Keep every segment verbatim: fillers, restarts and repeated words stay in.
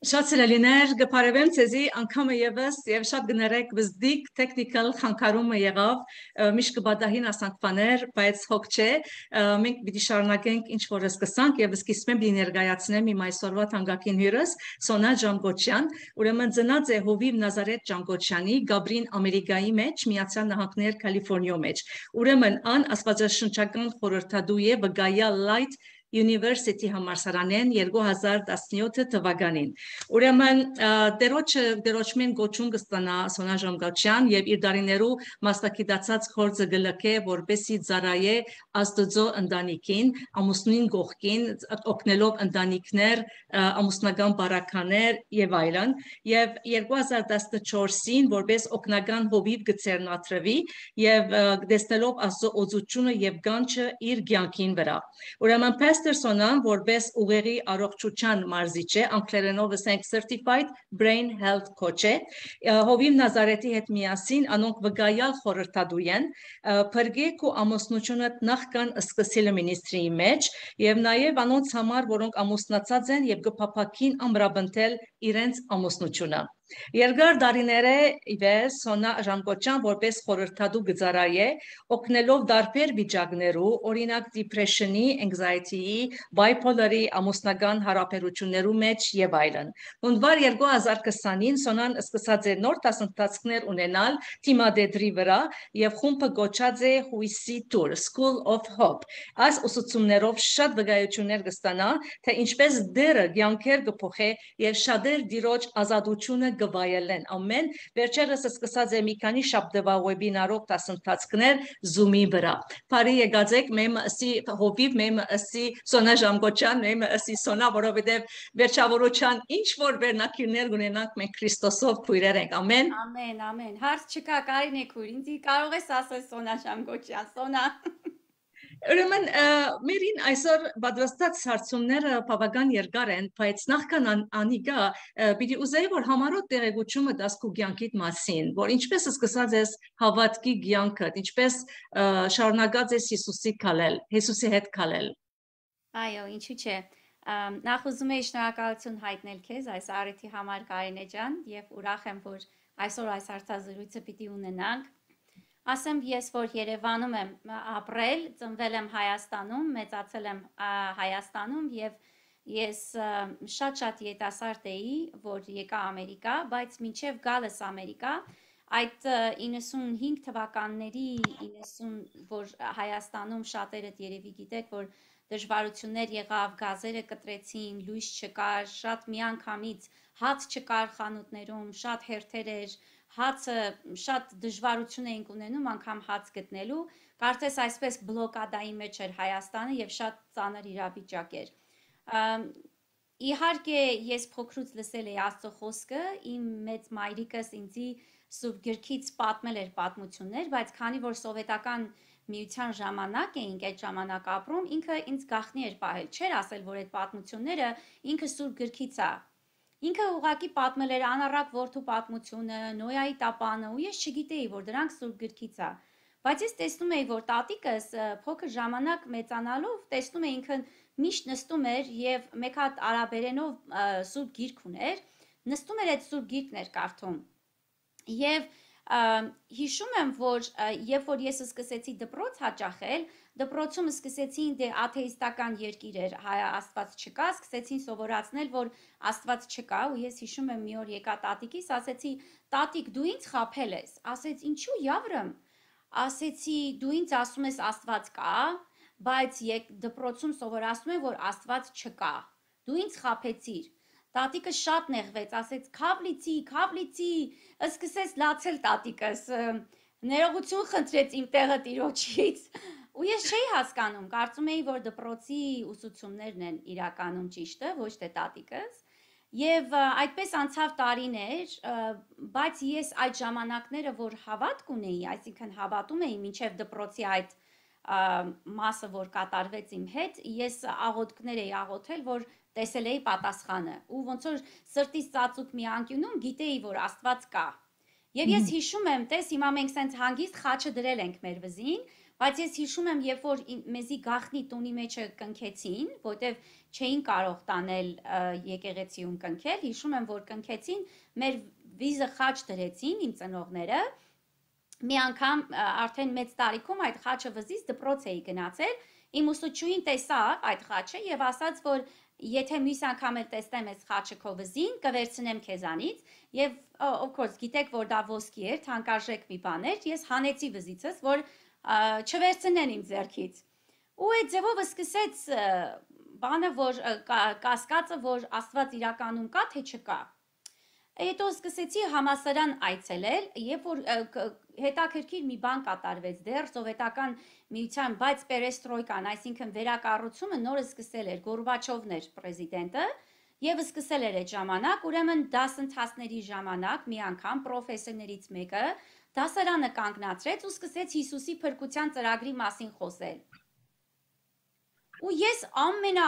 Շատ սիրելիներ, գփարևեմ ցեզի անգամը եւս եւ շատ գներեք բզդիկ տեխնիկալ խանգարումը եղավ միշտ կբադահին ասանքներ, բայց հոգ չէ, մենք պիտի շարունակենք ինչ որ սկսանք եւ սկիզբեմ պիտի ներկայացնեմ իմ այսօրվա թանկագին հյուրս Սոնա Ջամգոչյան, ուրեմն ծնած է Հովիվ Նազարեթ Ջամգոչյանի Գաբրին Ամերիկայի մեջ, Միացյալ Նահանգներ Կալիֆոռնիա մեջ։ Ուրեմն ան աստվածաշնչական խորհրդադու է Վգայա Light University համալսարանեն երկու հազար տասնյոթ թվականին։ Ուրեմն դերոջը դերոջմեն գոչուն կստանա Սոնա Ջամգոչյան եւ իր դարիներու մասնակցած խորձը գլկե որբեսի ծարայե աստծո ընտանիքին, ամուսնին գողքին, օգնելով ընտանիքներ, ամուսնական բարականեր եւ այլն, եւ երկու հազար տասնչորսին որբես օգնական հովիվ գծերնատրվի եւ դեսնելով աստծո օծությունը եւ գանչը իր կյանքին վրա։ Ուրեմն Պաստերսոնան որպես ուղեղի առողջության մարզիչ է, անգլերենով ասենք certified brain health coach է, Հովիվ Նազարեթի հետ միասին անոնք վկայալ խորհրդադու են, փրկեք ու ամուսնությունը նախքան սկսելը մինիստրիի մեջ եւ նաեւ անոնց համար, որոնք ամուսնացած են եւ կփափակին ամրապնդել իրենց ամուսնությունը։ Երկար դարիները իվես Սոնա Ջամգոչյան որպես խորհրդադու գծարայ է, օգնելով դարբեր վիճակներու, օրինակ depression-ի, anxiety-ի, bipolar-ի, ամուսնական հարաբերություններու մեջ եւ այլն։ Հունվար երկու հազար քսանին Սոնան սկսած է նոր դասընթացներ ունենալ թիմադեդրի վրա եւ խումբը գոչած է Հույսի Tour, School of Hope։ Այս ուսուցումներով շատ վկայություններ կստանա, թե ինչպես դերը կյանքեր կփոխե եւ շատեր դիրոջ ազատությունը գվայելեն ամեն վերջերս սկսած է մի քանի շաբթվա վեբինարով դասընթացներ Zoom-ի վրա։ Բարի եկածեք մեմ ասի հովիվ մեմ ասի Սոնա Ջամգոչյան մեմ ասի Սոնա որովհետեւ վերջավորության ինչ որ վերնակիրներ ունենանք մենք Քրիստոսով քույրեր ենք ամեն ամեն ամեն հարց չկա Կարինե քույր ինձ կարող ես ասել Սոնա Ջամգոչյան Սոնա Ուրեմն մերին այսօր պատվաստած հարցումները բավական երկար են, բայց նախքան անիկա պիտի ուզեի որ համառոտ տեղեկությունը դաս քու կյանքիդ մասին, որ ինչպես սկսած ես հավատքի կյանքը, ինչպես շարունակած ես Հիսուսի քալել, Հիսուսի հետ քալել։ Այո, ինչու՞ չէ։ Նախ ուզում եի շնորհակալություն հայտնել քեզ այս առիթի համար Կարինե ջան եւ ուրախ եմ որ այսօր այս հարցազրույցը պիտի ունենանք։ Ասեմ ես որ Երևանում եմ ապրել, ծնվել եմ Հայաստանում, մեծացել եմ Հայաստանում եւ ես շատ-շատ յետասարդ էի, որ եկա Ամերիկա, բայց մինչեւ գալս Ամերիկա, այդ իննսունհինգ թվականների իննսուն որ Հայաստանում շատերդ երևի գիտեք, որ դժվարություններ եղավ, գազերը կտրեցին, լույս չկար, շատ միանգամից հաց չկար խանութներում, շատ հերթեր էր հացը շատ դժվարություն էինք ունենում անգամ հաց գտնելու, կարծես այսպես բլոկադայի մեջ էր Հայաստանը եւ շատ ծանր իրավիճակ էր։ Իհարկե ես փոքրուց լսել էի Աստծո խոսքը, իմ մեծ մայրիկս ինձի Սուրբ Գրքից պատմել էր պատմություններ, բայց քանի որ սովետական միության ժամանակ էինք այդ ժամանակ ապրում, ինքը ինձ գաղտնի էր պահել, չէր ասել, որ այդ պատմությունները ինքը Սուրբ Գրքից է։ Ինքը ուղղակի պատմել էր անառակ որդու պատմությունը, Նոյայի տապանը, ու ես չգիտեի, որ դրանք Սուրբ Գրքից է։ Բայց ես տեսնում էի, որ տատիկս փոքր ժամանակ մեծանալով տեսնում էի ինքը միշտ նստում էր եւ մեկ հատ արաբերենով Սուրբ Գիրք ուներ, նստում էր այդ Սուրբ Գիրքն էր կարդում։ Եվ հիշում եմ, որ երբ որ ես սկսեցի դպրոց հաճախել, դպրոցում սկսեցին դե աթեիստական երկիր էր, հայ Աստված չկա, սկսեցին սովորացնել, որ Աստված չկա, ու ես հիշում եմ մի օր եկա տատիկիս, ասեցի, տատիկ, դու ինձ խաբել ես, ասեց, ինչու Яվրեմ, ասեցի, դու ինձ ասում ես Աստված կա, բայց դպրոցում սովորացնում են, որ Աստված չկա, դու ինձ խաբեցիր։ Տատիկը շատ նեղվեց, ասեց քավլիցի, քավլիցի, սկսեց լացել տատիկս, ներողություն խնդրեց իմ տեղը տիրոջից, ու ես չէի հասկանում, կարծում էի, որ դպրոցի ուսուցումներն են իրականում ճիշտը, ոչ թե տատիկս, եւ այդպես անցավ տարիներ, բայց ես այդ ժամանակները, որ հավատք ունեի, այսինքն հավատում էի մինչեւ դպրոցի այդ մասը, որ կատարվեց իմ հետ, ես աղոթքներ էի աղոթել, որ տեսել էի պատասխանը ու ոնց որ սրտից ծածուկ մի անկյունում գիտեի որ Աստված կա եւ ես հիշում եմ տես հիմա մենք սենց հանգիստ խաչը դրել ենք մեր վզին բայց ես հիշում եմ, երբ որ մեզի գախնի տունի մեջը կնքեցին, որտեվ չէին կարող տանել եկեղեցիում կնքել, հիշում եմ, որ կնքեցին, մեր վիզը խաչ դրեցին իմ ծնողները, մի անգամ արդեն մեծ տարիքում այդ խաչը վզից դպրոց էի գնացել, իմ ուսուցչուհին տեսավ այդ խաչը եւ ասաց, որ եթե մյուս անգամ էլ տեսնեմ այս խաչը քո վզին, կվերցնեմ քեզանից եւ of course գիտեք, որ դա ոսկի էր, թանկարժեք մի բան էր, ես հանեցի վզիցս, որ չվերցնեն իմ ձեռքից։ Ու այդ ձևով սկսեց բանը, որ կասկածը, որ Աստված իրականում կա, թե չկա։ Հետո սկսեցի համասարան այցելել, երբ որ հետաքրքիր մի բան կատարվեց դեռ սովետական միության, բայց պերեստրոյկան, այսինքն վերակառուցումը նորը սկսել էր, Գորբաչովն էր պրեզիդենտը, եւ սկսել էր այդ ժամանակ, ուրեմն դասընթացների ժամանակ մի անգամ պրոֆեսորներից մեկը դասարանը կանգնացրեց ու սկսեց Հիսուսի փրկության ծրագրի մասին խոսել։ Ու ես ամենա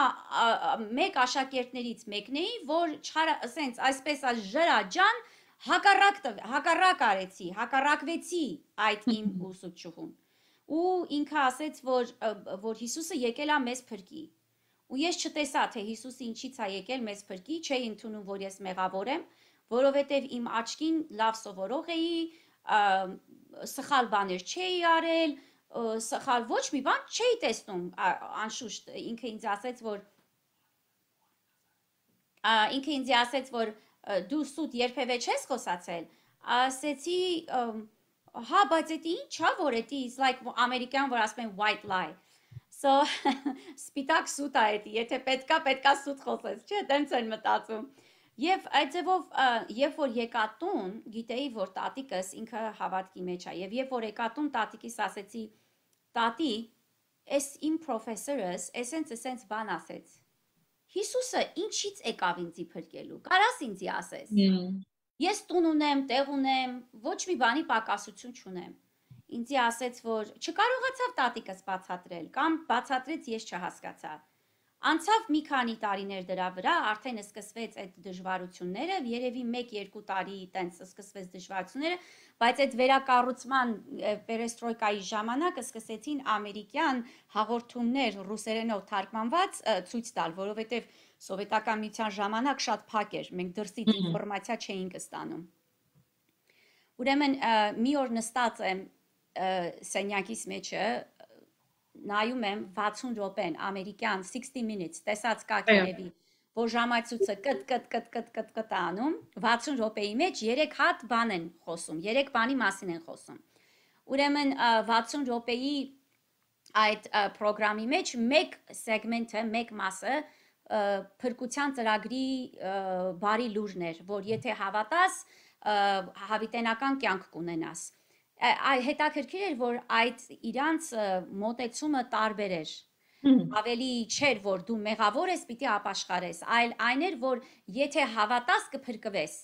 մեկ աշակերտներից մեկն էի, որ ասենց այսպես ժրաջան հակառակ արեցի, հակառակվեցի այդ իմ ուսուցչուհուն։ Ու ինքը ասեց, որ որ Հիսուսը եկել է մեզ փրկի։ Ու ես չտեսա, թե Հիսուսը ինչից է եկել մեզ փրկի, չէի ընդունում, որ ես մեղավոր եմ, որովհետև իմ աչքին լավ սովորող էի, սխալ բաներ չէի արել, սխալ ոչ մի բան չէի տեսնում, անշուշտ ինքը ինձ ասեց, որ ինքը ինձ ասեց, որ դու սուտ երբևէ չես խոսացել, ասեցի, հա, բայց էդի ինչ է, որ էդի is like ամերիկյան, որ ասում են white lie, so սպիտակ սուտ է էդի, եթե պետքա, պետքա սուտ խոսես, չէ, տենց են մտածում, եւ այդ ձևով, երբ որ եկա տուն, գիտեի, որ տատիկս ինքը հավատքի մեջ է, եւ երբ որ եկա տուն, տատիկիս ասեցի, տատի, ես իմ պրոֆեսորս, էսենց էսենց բան ասեց, Հիսուսը ինչից եկավ ինձի փրկելու, կարաս ինձի ասես, ես տուն ունեմ, տեղ ունեմ, ոչ մի բանի պակասություն չունեմ, ինձի ասեց, որ չկարողացավ տատիկս բացատրել, կամ բացատրեց, ես չհասկացա, անցավ մի քանի տարիներ դրա վրա, արդեն սկսվեց այդ դժվարությունները, երևի մեկ-երկու տարի տենց սկսվեց դժվարությունները, բայց այդ վերակառուցման պերեստրոյկայի ժամանակ սկսեցին ամերիկյան հաղորդումներ ռուսերենով թարգմանված ցույց տալ, որովհետև սովետական միության ժամանակ շատ փակ էր, մենք դրսից ինֆորմացիա չէինք ստանում։ Ուրեմն մի օր նստած եմ սենյակիս մեջը, նայում եմ վաթսուն րոպեն, ամերիկյան sixty minutes, տեսած կա երևի, որ ժամացույցը կտ կտ կտ կտ կտ կտ անում, վաթսուն րոպեի մեջ երեք հատ բան են խոսում, երեք բանի մասին են խոսում։ Ուրեմն վաթսուն րոպեի այդ պրոգրամի մեջ մեկ սեգմենտը, մեկ մասը փրկության ծրագրի բարի լուրն էր, որ եթե հավատաս, հավիտենական կյանք կունենաս։ Հետաքրքիր էր, որ այդ իրանց մոտեցումը տարբեր էր, ավելի չէր, որ դու մեղավոր ես, պիտի ապաշխարես, այլ այն էր, որ եթե հավատաս կփրկվես։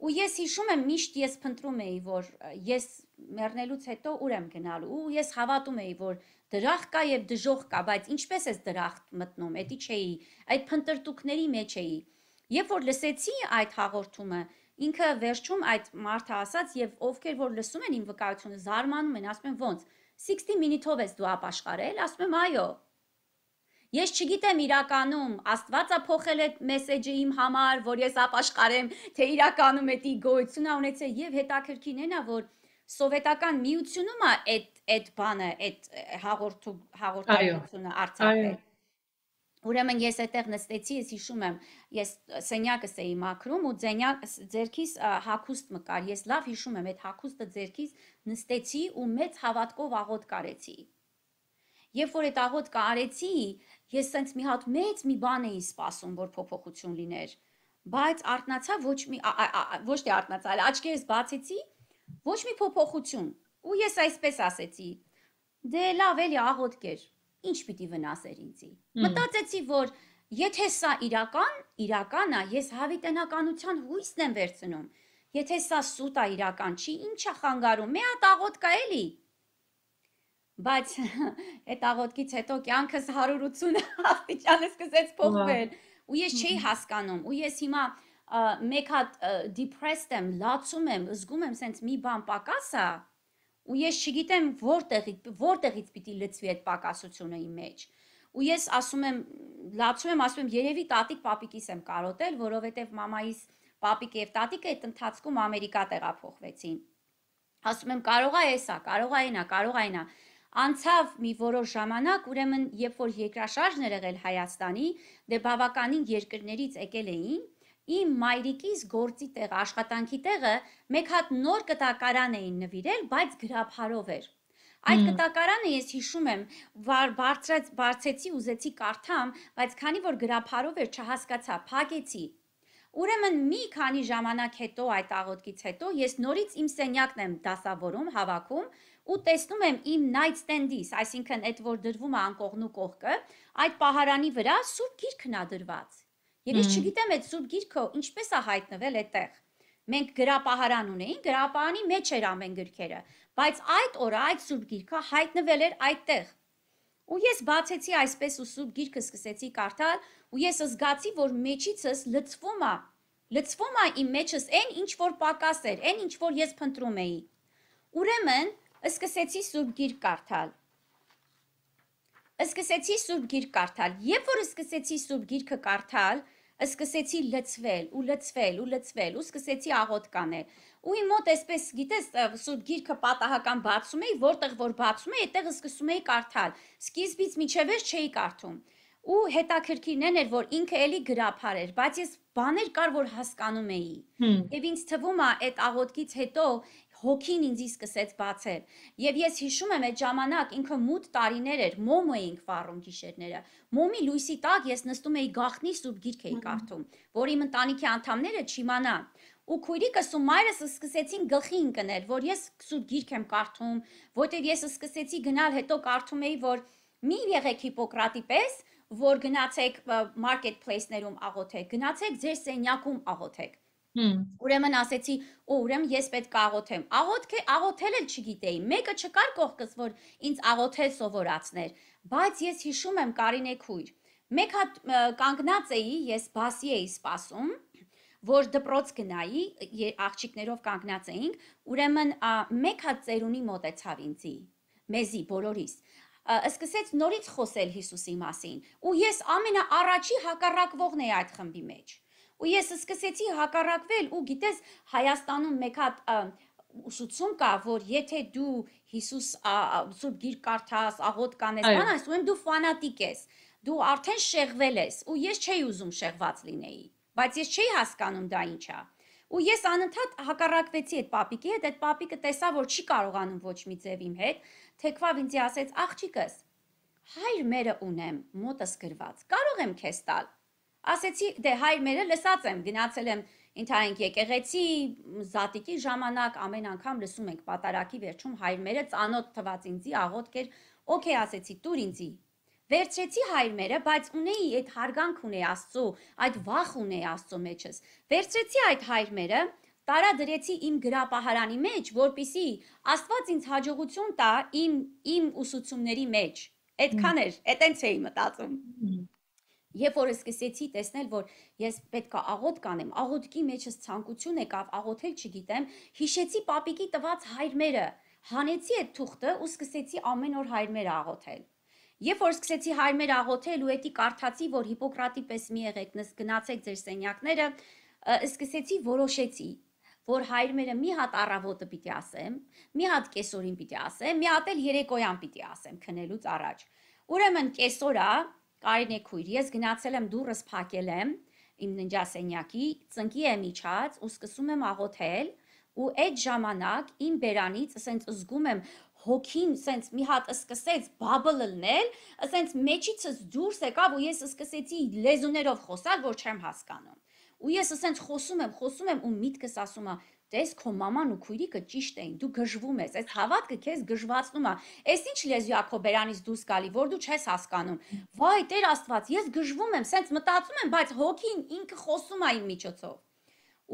Ու ես հիշում եմ, միշտ ես փնտրում էի, որ ես մեռնելուց հետո ուր եմ գնալու, ու ես հավատում էի, որ դրախտ կա եւ դժոխք կա, բայց ինչպես ես դրախտ մտնում, էդի չէի, այդ փնտրտուքների մեջ էի։ Երբ որ լսեցի այդ հաղորդումը, ինքը վերջում այդ մարդը ասաց եւ ովքեր որ լսում են իմ վկայությունը զարմանում են, ասում են ոնց sixty minute-ով ես դու ապաշխարել, ասում եմ այո։ Ես չգիտեմ իրականում Աստված է փոխել այդ մեսեջը իմ համար, որ ես ապաշխարեմ, թե իրականում էդի գոյություն ունեցել եւ հետաքրքիրն է նա, որ սովետական միությունում է այդ այդ բանը, այդ հաղորդու հաղորդակցությունը արձակվել։ Ուրեմն ես այդտեղ նստեցի, ես հիշում եմ, ես սենյակս էի մաքրում ու ձերքիս հագուստ մկար, ես լավ հիշում եմ, այդ հագուստը ձերքիս նստեցի ու մեծ հավատքով աղոթք արեցի։ Երբ որ այդ աղոթքը արեցի, ես սենց մի հատ մեծ մի բան էի սպասում, որ փոփոխություն լիներ, բայց արթնացա ոչ մի ոչ թե արթնացա, այլ աչքերս բացեցի, ոչ մի փոփոխություն։ Ու ես այսպես ասեցի. դե լավ էլի աղոթք էր, ինչ պիտի վնասեր ինձի։ Մտածեցի, որ եթե սա իրական, իրական է, ես հավիտենականության հույսն եմ վերցնում։ Եթե սա սուտ է, իրական չի, ինչ է խանգարում, մի հատ աղոթք է էլի։ Բայց այդ աղոթքից հետո կյանքս հարյուր ութսուն աստիճան սկսեց փոխվել, ու ես չէի հասկանում, ու ես հիմա մեկ հատ depressed եմ, լացում եմ, զգում եմ սենց մի բան պակաս է, ու ես չգիտեմ որտեղից որտեղից պիտի լցվի այդ պակասությունը իմ մեջ։ Ու ես ասում եմ, լացում եմ, ասում եմ, երևի տատիկ պապիկիս եմ կարոտել, որովհետև մամայիս պապիկը եւ տատիկը այդ ընթացքում Ամերիկա տեղափոխվեցին։ Ասում եմ, կարող է էսա, կարող է այնա, կարող է այնա։ Անցավ մի որոշ ժամանակ, ուրեմն երբ որ երկրաշարժն էր եղել Հայաստանի, դե բավականին երկրներից եկել էին, իմ մայրիկիս գործի տեղը, աշխատանքի տեղը մեկ հատ նոր կտակարան էին նվիրել, բայց գրաբարով էր։ Այդ կտակարանը ես հիշում եմ, բարձեցի, ուզեցի կարդամ, բայց քանի որ գրաբարով էր, չհասկացա, փակեցի։ Ուրեմն մի քանի ժամանակ հետո այդ աղոթքից հետո ես նորից իմ սենյակն եմ դասավորում, հավաքում ու տեսնում եմ իմ nightstand-իս, այսինքն այդ որ դրվում է անկողնու կողքը, այդ պահարանի վրա սուրբ գիրքն է դրված։ Եվ ես չգիտեմ այդ սուրբ գիրքը ինչպես է հայտնվել այդտեղ։ Մենք գրապահարան ունեին, գրապահարանի մեջ էր ամեն գրքերը, բայց այդ օրը այդ սուրբ գիրքը հայտնվել էր այդտեղ։ Ու ես բացեցի այսպես ու սուրբ գիրքը սկսեցի կարդալ, ու ես զգացի, որ մեջիցս լցվում է, լցվում է իմ մեջս այն ինչ որ պակաս էր, այն ինչ որ ես փնտրում էի։ Ուրեմն սկսեցի սուրբ գիրք կարդալ։ Սկսեցի սուրբ գիրք կարդալ, երբ որ սկսեցի սուրբ գիրքը կարդալ, սկսեցի լցվել ու լցվել ու լցվել ու սկսեցի աղոթք անել։ Ու իմ մոտ այսպես, գիտես, սուրբ գիրքը պատահական բացում էի, որտեղ որ բացում էի, այդտեղ սկսում էի կարդալ։ Սկիզբից մինչև վերջ չէի կարդում։ Ու հետաքրքիրն էր, որ ինքը էլի գրաբար էր, բայց ես բաներ կար, որ հասկանում էի։ Եվ ինձ թվում է այդ աղոթքից հետո հոգին ինձի սկսեց բացել։ Եվ ես հիշում եմ այդ ժամանակ ինքը մութ տարիներ էր, մոմ էինք վառում գիշերները։ Մոմի լույսի տակ ես նստում էի գաղտնի սուրբ գիրք էի կարդում, որ իմ ընտանիքի անդամները չիմանան։ Ու քույրիկս ու մայրս սկսեցին գլխի ընկնել, որ ես սուրբ գիրք եմ կարդում, որտեղ ես սկսեցի գնալ, հետո կարդում էի, որ մի եղեք Հիպոկրատի պես, որ գնացեք marketplace-ներում աղոթեք, գնացեք ձեր սենյակում աղոթեք։ Ուրեմն ասեցի, օ, ուրեմն ես պետք է աղոթեմ։ Աղոթք աղոթել էլ չգիտեի։ Մեկը չկար կողքս, որ ինձ աղոթել սովորացներ, բայց ես հիշում եմ Կարինե քույր։ Մեկ հատ կանգնած էի, ես բասի էի սպասում, որ դպրոց գնայի, աղջիկներով կանգնած էինք, ուրեմն մեկ հատ ծերունի մոտեցավ ինձի, մեզի բոլորիս։ Սկսեց նորից խոսել Հիսուսի մասին, ու ես ամենաառաջի հակառակվողն էի այդ խմբի մեջ։ Ու ես սկսեցի հակառակվել, ու գիտես, Հայաստանում մեկ հատ ուսուցում կա, որ եթե դու Հիսուս սուրբ գիրք կարդաս, աղոթք կանես, բան ասում եմ, դու ֆանատիկ ես, դու արդեն շեղվել ես, ու ես չէի ուզում շեղված լինեի, բայց ես չէի հասկանում դա ինչ է։ Ու ես անընդհատ հակառակվեցի այդ պապիկի հետ, այդ պապիկը տեսա, որ չի կարողանում ոչ մի ձև իմ հետ, թեքվավ ինձ ասեց, աղջիկս, հայր մերը ունեմ, մոտս գրված, կարող եմ քեզ տալ։ Ասեցի, դե հայր մերը լսած եմ, գնացել եմ ընդհանրենք եկեղեցի, զատիկի ժամանակ, ամեն անգամ լսում ենք պատարակի վերջում հայր մերը ծանոթ թված ինձի, աղոթք էր, օքեյ ասեցի, տուր ինձի։ Վերցրեցի հայր մերը, բայց ունեի այդ հարգանք ունեի Աստծո, այդ վախ ունեի Աստծո մեջս։ Վերցրեցի այդ հայր մերը, տարա դրեցի իմ գրապահարանի մեջ, որպիսի Աստված ինձ հաջողություն տա իմ իմ ուսուցումների մեջ։ Այդքան էր, այտենց էի մտածում։ Երբ որ սկսեցի տեսնել, որ ես պետք է աղոթք անեմ, աղոթքի մեջս ցանկություն եկավ, աղոթել չգիտեմ, հիշեցի պապիկի տված հայրմերը, հանեցի այդ թուղթը ու սկսեցի ամեն օր հայրմերը աղոթել։ Երբ որ սկսեցի հայրմերը աղոթել ու էդի կարդացի, որ Հիպոկրատի պես մի եղեք, գնացեք ձեր սենյակները, սկսեցի որոշեցի, որ հայրմերը մի հատ առավոտը պիտի ասեմ, մի հատ կեսօրին պիտի ասեմ, մի հատ էլ երեկոյան պիտի ասեմ քնելուց առաջ։ Ուրեմն կեսօրա Կարինե քույր, ես գնացել եմ դուրս փակել եմ իմ ննջասենյակի, ծնկի եմ իջած ու սկսում եմ աղոթել ու այդ ժամանակ իմ բերանից ասենց զգում եմ հոգին ասենց մի հատ սկսեց բաբլ լնել, ասենց մեջիցս դուրս եկավ ու ես սկսեցի լեզուներով խոսալ, որ չեմ հասկանում։ Ու ես ասենց խոսում եմ, խոսում եմ ու միտքս ասում է, տես քո մաման ու քույրիկը ճիշտ էին, դու գժվում ես, այս հավատքը քեզ գժվացնում է։ Այս ինչ լեզու է քո բերանից դուրս գալի, որ դու չես հասկանում։ Վայ, Տեր Աստված, ես գժվում եմ, սենց մտածում եմ, բայց հոգին ինքը խոսում է իմ միջոցով։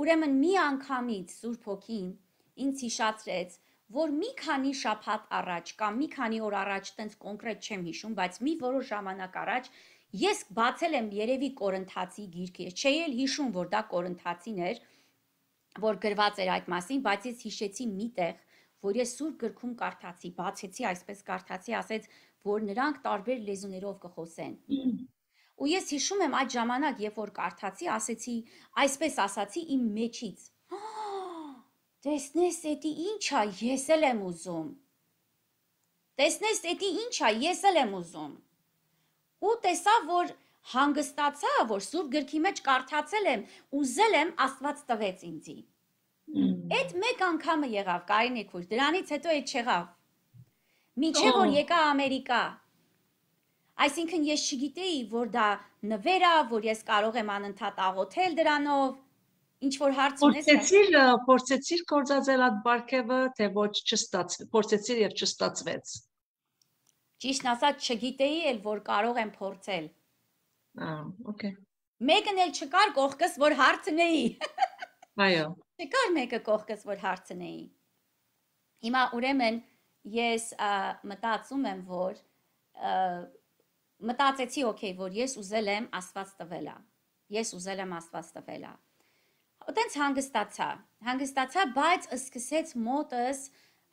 Ուրեմն մի անգամից Սուրբ Հոգին ինձ հիշացրեց, որ մի քանի շաբաթ առաջ կամ մի քանի օր առաջ, տենց կոնկրետ չեմ հիշում, բայց մի որոշ ժամանակ առաջ ես բացել եմ երևի Կորինթացի գիրքը, չէի էլ հիշում, որ դա Կորինթացին էր, որ գրված էր այդ մասին, բայց ես հիշեցի մի տեղ, որ ես Սուրբ գրքում կարդացի, բացեցի, այսպես կարդացի, ասեց, որ նրանք տարբեր լեզուներով կխոսեն։ Ու ես հիշում եմ այդ ժամանակ, երբ որ կարդացի, ասեցի, այսպես ասացի իմ մեջից. տեսնես, էդի ինչ է, ես էլ եմ ուզում։ Տեսնես, էդի ինչ է, ես էլ եմ ուզում։ Ու տեսա, որ հանգստացա, որ Սուրբ գրքի մեջ կարդացել եմ, ուզել եմ, Աստված տվեց ինձի։ Այդ մեկ անգամը եղավ, Կարինե քույր, դրանից հետո այդ չեղավ։ Մինչև որ եկա Ամերիկա։ Այսինքն ես չգիտեի, որ դա նվեր է, որ ես կարող եմ անընդհատ աղոթել դրանով։ Ինչ որ հարց ունես։ Փորձեցիր, փորձեցիր կործածել այդ բարգևը, թե ոչ չստացվեց, փորձեցիր եւ չստացվեց։ Ճիշտն ասած չգիտեի էլ, որ կարող եմ փորձել։ Ահա, օքեյ։ Մեկն էլ չկար կողքս, որ հարցնեի։ Այո։ Չկար մեկը կողքս, որ հարցնեի։ Հիմա ուրեմն ես մտածում եմ, որ մտածեցի, օքեյ, որ ես ուզել եմ Աստված տվելա։ Ես ուզել եմ Աստված տվելա։ Այդտենց հանգստացա, հանգստացա, բայց սկսեց մոտս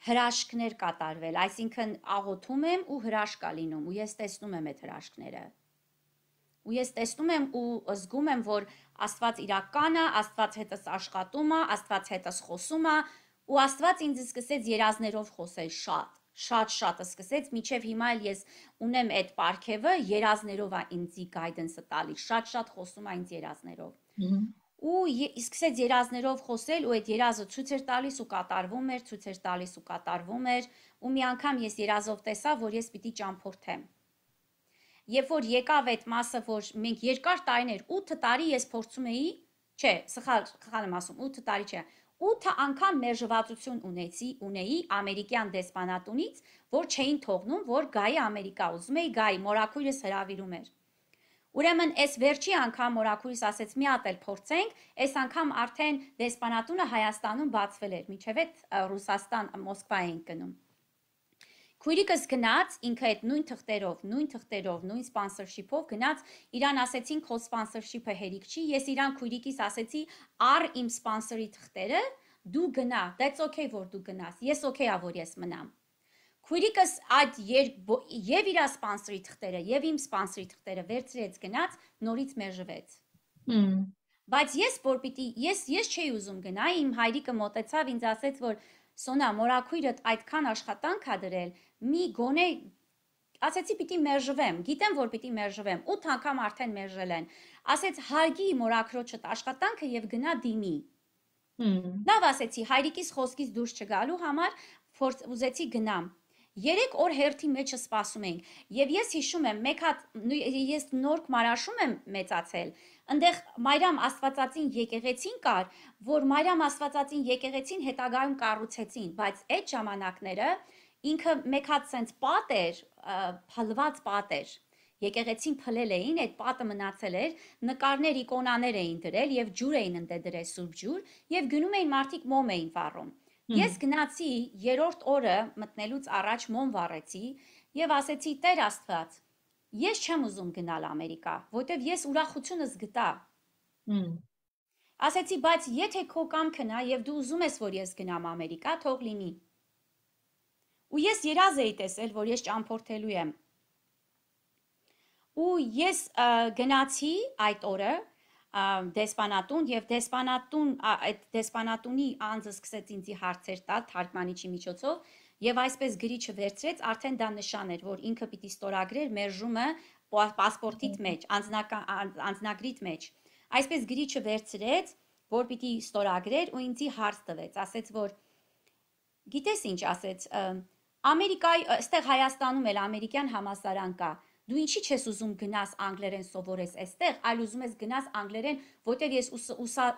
հրաշքներ կատարվել, այսինքն աղոթում եմ ու հրաշք ա լինում, ու ես տեսնում եմ այդ հրաշքները։ Ու ես տեսնում եմ ու զգում եմ, որ Աստված իրական է, Աստված հետս աշխատում է, Աստված հետս խոսում է, ու Աստված ինձ սկսեց երազներով խոսել շատ, շատ շատ սկսեց, մինչև հիմա էլ ես ունեմ այդ պարգևը, երազներով է ինձի guidance-ը տալիս, շատ-շատ խոսում է ինձ երազներով։ Ու սկսեց երազներով խոսել, ու այդ երազը ցույց էր տալիս ու կատարվում էր, ցույց էր տալիս ու կատարվում էր, ու մի անգամ ես երազով տեսա, որ ես պիտի ճամփորդեմ։ Երբ որ եկավ այդ մասը, որ մենք երկար տարիներ, ութ տարի ես փորձում էի, չէ, սխալ, սխալ եմ ասում, ութ տարի չէ, ութ անգամ մերժվածություն ունեցի, ունեի ամերիկյան դեսպանատունից, որ չէին թողնում, որ գայի Ամերիկա, ուզում էի գայի, մորաքույրս հրավիրում էր։ Ուրեմն այս վերջի անգամ մորաքույրս ասեց մի հատ էլ փորձենք, այս անգամ արդեն դեսպանատունը Հայաստանում բացվել էր, մինչև այդ Ռուսաստան, Մոսկվա էինք գնում։ Քույրիկս գնաց, ինքը այդ նույն թղթերով, նույն թղթերով, նույն սպոնսորշիփով գնաց, իրան ասեցին քո սպոնսորշիփը հերիք չի, ես իրան քույրիկիս ասեցի, առ իմ սպոնսորի թղթերը, դու գնա, that's okay որ դու գնաս, ես okay ա որ ես մնամ։ Քույրիկս այդ եւ իր սպոնսորի թղթերը, եւ իմ սպոնսորի թղթերը վերցրեց գնաց, նորից մերժվեց։ Բայց ես որ պիտի, ես ես չէի ուզում գնայի, իմ հայրիկը մոտեցավ ինձ ասեց, որ Սոնա, մորաքույրդ այդքան աշխատանք ա դրել, մի գոնե ասեցի պիտի մերժվեմ, գիտեմ որ պիտի մերժվեմ, ութ անգամ արդեն մերժել են։ Ասեց հարգի մորաքրոջդ աշխատանքը եւ գնա դիմի։ Լավ ասեցի, հայրիկիս խոսքից դուրս չգալու համար ուզեցի գնամ։ Երեք օր հերթի մեջը սպասում ենք, եւ ես հիշում եմ, մեկ հատ ես նոր Մարաշում եմ մեծացել, այնտեղ Մարիամ Աստվածածին եկեղեցին կար, որ Մարիամ Աստվածածին եկեղեցին հետագայում կառուցեցին, բայց այդ ժամանակները ինքը մեկ հատ sense պատ էր, փլված պատ էր։ Եկեղեցին փլել էին, այդ պատը մնացել էր, նկարներ, իկոնաներ էին դրել եւ ջուր էին ընդ դրել սուրբ ջուր եւ գնում էին մարդիկ մոմ էին վառում։ Ես գնացի երրորդ օրը մտնելուց առաջ մոմ վառեցի եւ ասեցի Տեր Աստված, ես չեմ ուզում գնալ Ամերիկա, որտեվ ես ուրախությունս գտա։ Ասեցի, բայց եթե քո կամքն է եւ դու ուզում ես, որ ես գնամ Ամերիկա, թող լինի։ Ու ես երազ էի տեսել, որ ես ճամփորդելու եմ։ Ու ես գնացի այդ օրը դեսպանատուն եւ դեսպանատուն այդ դեսպանատունի անձը սկսեց ինձի հարցեր տալ թարգմանիչի միջոցով եւ այսպես գրիչը վերցրեց, արդեն դա նշան էր, որ ինքը պիտի ստորագրեր մերժումը պասպորտիդ մեջ, անձնագրիդ մեջ։ Այսպես գրիչը վերցրեց, որ պիտի ստորագրեր ու ինձի հարց տվեց, ասեց, որ գիտես ինչ ասեց, Ամերիկայի, այստեղ Հայաստանում էլ ամերիկյան համալսարան կա։ Դու ինչի չես ուզում գնաս անգլերեն սովորես այստեղ, այլ ուզում ես գնաս անգլերեն, որտեղ ես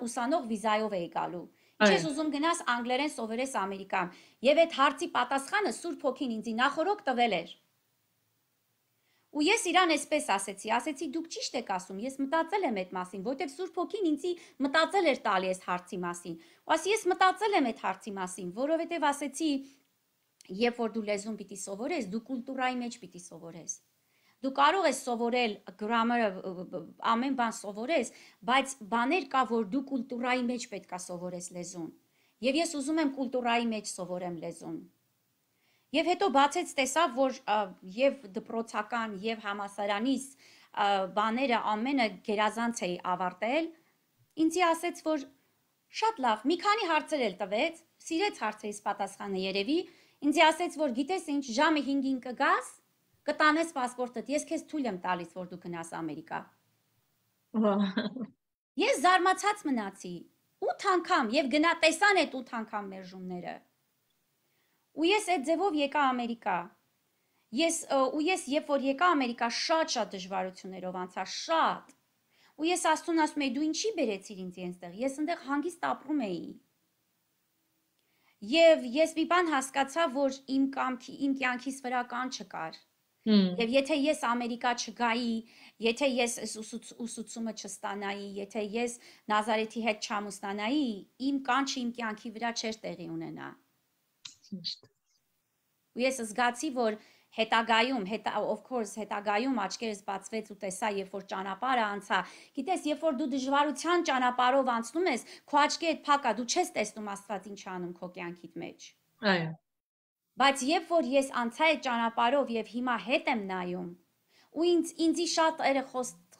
ուսանող վիզայով էի գալու։ Ինչի՞ ես ուզում գնաս անգլերեն սովորես Ամերիկայում։ Եվ այդ հարցի պատասխանը Սուրբ Հոգին ինձ նախորոք տվել էր։ Ու ես իրան այսպես ասեցի, ասեցի դուք ճիշտ եք ասում, ես մտածել եմ այդ մասին, որտեղ Սուրբ Հոգին ինձի մտածել էր տալի այս հարցի մասին։ Ու ասի ես մտածել եմ այդ հարցի մասին, որովհետև ասեցի, երբ որ դու լեզուն պիտի սովորես, դու կուլտուրայի մեջ պիտի սովորես։ Դու կարող ես սովորել գրամարը, ամեն բան սովորես, բայց բաներ կա, որ դու կուլտուրայի մեջ պետք է սովորես լեզուն։ Եվ ես ուզում եմ կուլտուրայի մեջ սովորեմ լեզուն։ Եվ հետո բացեց տեսավ, որ եւ դպրոցական եւ համասարանից բաները ամենը գերազանց էի ավարտել, ինձի ասեց, որ շատ լավ, մի քանի հարցեր էլ տվեց, սիրեց հարցերից պատասխանը երևի, ինձի ասեց, որ գիտես ինչ, ժամը հինգին կգաս, կտանես պասպորտդ, ես քեզ թույլ եմ տալիս, որ դու գնաս Ամերիկա։ Ես զարմացած մնացի, ութ անգամ, եւ գնա տեսան այդ ութ անգամ մերժումները։ Ու ես այդ ձևով եկա Ամերիկա։ Ես ու ես երբ որ եկա Ամերիկա շատ-շատ դժվարություններով անցա, շատ։ Ու ես Աստծուն ասում եի, դու ինչի բերեցիր ինձ այնտեղ։ Ես այնտեղ հանգիստ ապրում էի։ Եվ ես մի բան հասկացա, որ իմ կամքի, իմ կյանքիս վրա կան չկար։ Եվ եթե ես Ամերիկա չգայի, եթե ես ուսուցումը չստանայի, եթե ես Նազարեթի հետ չամուսնանայի, իմ կանչը իմ կյանքի վրա չէր տեղի ունենա։ Ու ես զգացի, որ հետագայում, հետա, of course, հետագայում աչքերս բացվեց ու տեսա, երբ որ ճանապարհը անցա։ Գիտես, երբ որ դու դժվարության ճանապարհով անցնում ես, քո աչքերդ փակ է, դու չես տեսնում Աստված ինչ անում քո կյանքիդ մեջ։ Այո։ Բայց երբ որ ես անցա այդ ճանապարհով եւ հիմա հետ եմ նայում, ու ինձ ինձի շատ երը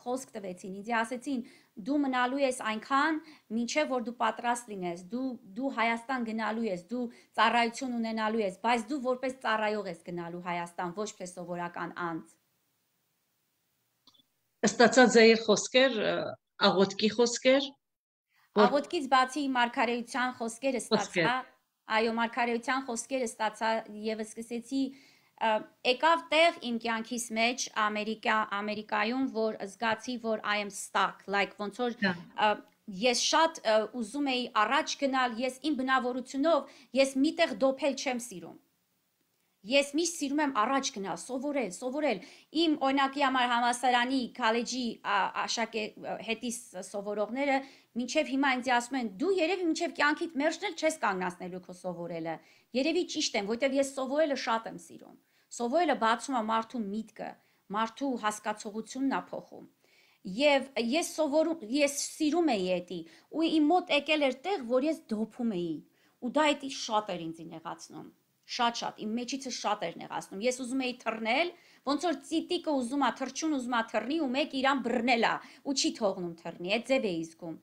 խոսք տվեցին, ինձ ասեցին, դու մնալու ես այնքան, մինչև որ դու պատրաստ լինես, դու դու Հայաստան գնալու ես, դու ծառայություն ունենալու ես, բայց դու որպես ծառայող ես գնալու Հայաստան, ոչ թե սովորական անձ։ Ստացած ձեր խոսքեր, աղոթքի խոսքեր։ Աղոթքից բացի մարգարեության խոսքերը ստացա, այո, մարգարեության խոսքերը ստացա եւ սկսեցի եկավ տեղ իմ կյանքիս մեջ Ամերիկա Ամերիկայում, որ զգացի, որ I am stuck, like ոնց որ ես շատ ուզում էի առաջ գնալ, ես իմ բնավորությունով ես միտեղ դոփել չեմ սիրում։ Ես միշտ սիրում եմ առաջ գնալ, սովորել, սովորել։ Իմ օրինակի համար համալսարանի, քոլեջի հետիս սովորողները մինչև հիմա ինձ ասում են, դու երևի մինչև կյանքիդ մերժնել չես կանգնացնելու քո սովորելը։ Երևի ճիշտ եմ, որովհետև ես սովորելը շատ եմ սիրում։ Սովորելը բացում է մարդու միտքը, մարդու հասկացողությունն է փոխում։ Եվ ես սովորում, ես սիրում էի էդի, ու իմ մոտ եկել էր տեղ, որ ես դոփում էի, ու դա էդի շատ էր ինձ նեղացնում։ Շատ-շատ, իմ մեջիցը շատ էր նեղացնում։ Ես ուզում էի թռնել, ոնց որ ծիտիկը ուզում է թռչուն ուզում է թռնի ու մեկ իրան բռնել է ու չի թողնում թռնի, այդ ձև էի զգում։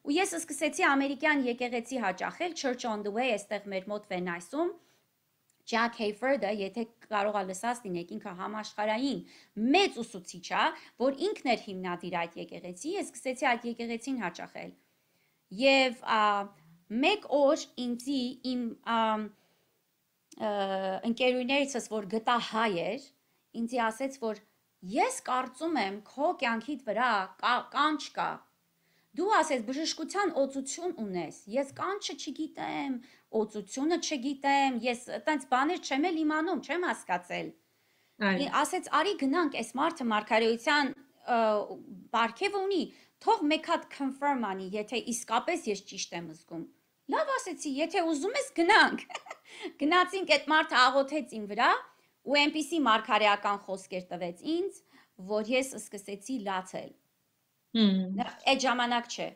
Ու ես սկսեցի ամերիկյան եկեղեցի հաճախել, Church on the Way, այստեղ մեր մոտ Վենայսում։ Jack Hayford-ը, եթե կարող ա լսած լինեք, ինքը համաշխարհային մեծ ուսուցիչ է, որ ինքն էր հիմնադիր այդ եկեղեցի, ես սկսեցի այդ եկեղեցին հաճախել։ Եվ մեկ օր ինձի իմ ընկերուներիցս, որ գտա հայ էր, ինձի ասեց, որ ես կարծում եմ քո կյանքիդ վրա կանչ կա։ Դու ասես բժշկության օծություն ունես, ես կանչը չգիտեմ, օծությունը չգիտեմ, ես այտենց բաներ չեմ էլ իմանում, չեմ հասկացել։ Ասեց, արի գնանք, այս մարդը մարգարեության բարգև ունի, թող մեկ հատ confirm անի, եթե իսկապես ես ճիշտ եմ զգում։ Լավ ասեցի, եթե ուզում ես գնանք։ Գնացինք, այդ մարդը աղոթեց իմ վրա ու այնպիսի մարգարեական խոսքեր տվեց ինձ, որ ես սկսեցի լացել։ Այդ ժամանակ չէ։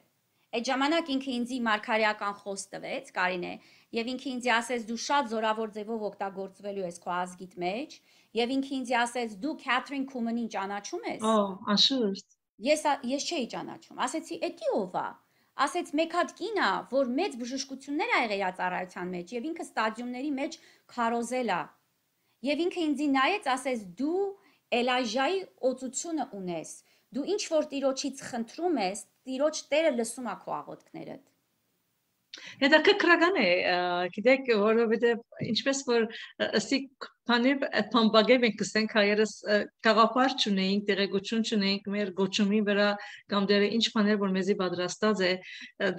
Այդ ժամանակ ինքը ինձի մարգարեական խոսք տվեց, Կարինե, եւ ինքը ինձ ասեց դու շատ զորավոր ձևով օգտագործվելու ես քո ազգիդ մեջ, եւ ինքը ինձ ասեց դու Քեթրին Քումենին ճանաչում ես։ Օ, անշուշտ։ Ես ես չէի ճանաչում։ Ասեցի, «Էդի ով է»։ Ասեց մեկ հատ կին է, որ մեծ բժշկություններ ա եղել իր ծառայության մեջ եւ ինքը ստադիումների մեջ քարոզել է։ Եվ ինքը ինձ նայեց, ասեց դու Էլայժայի օծությունը ունես։ Դու ինչ որ Տիրոջից խնդրում ես, Տիրոջ Տերը լսում է քո աղոթքներդ։ Հետաքրքրական է, գիտեք, որովհետև ինչպես որ ըսի բանիվ փամբագև ենք կսենք հայերս գաղափար չունեինք, տեղեկություն չունեինք մեր գոչումի վրա կամ դերը ինչ բաներ որ մեզի պատրաստած է,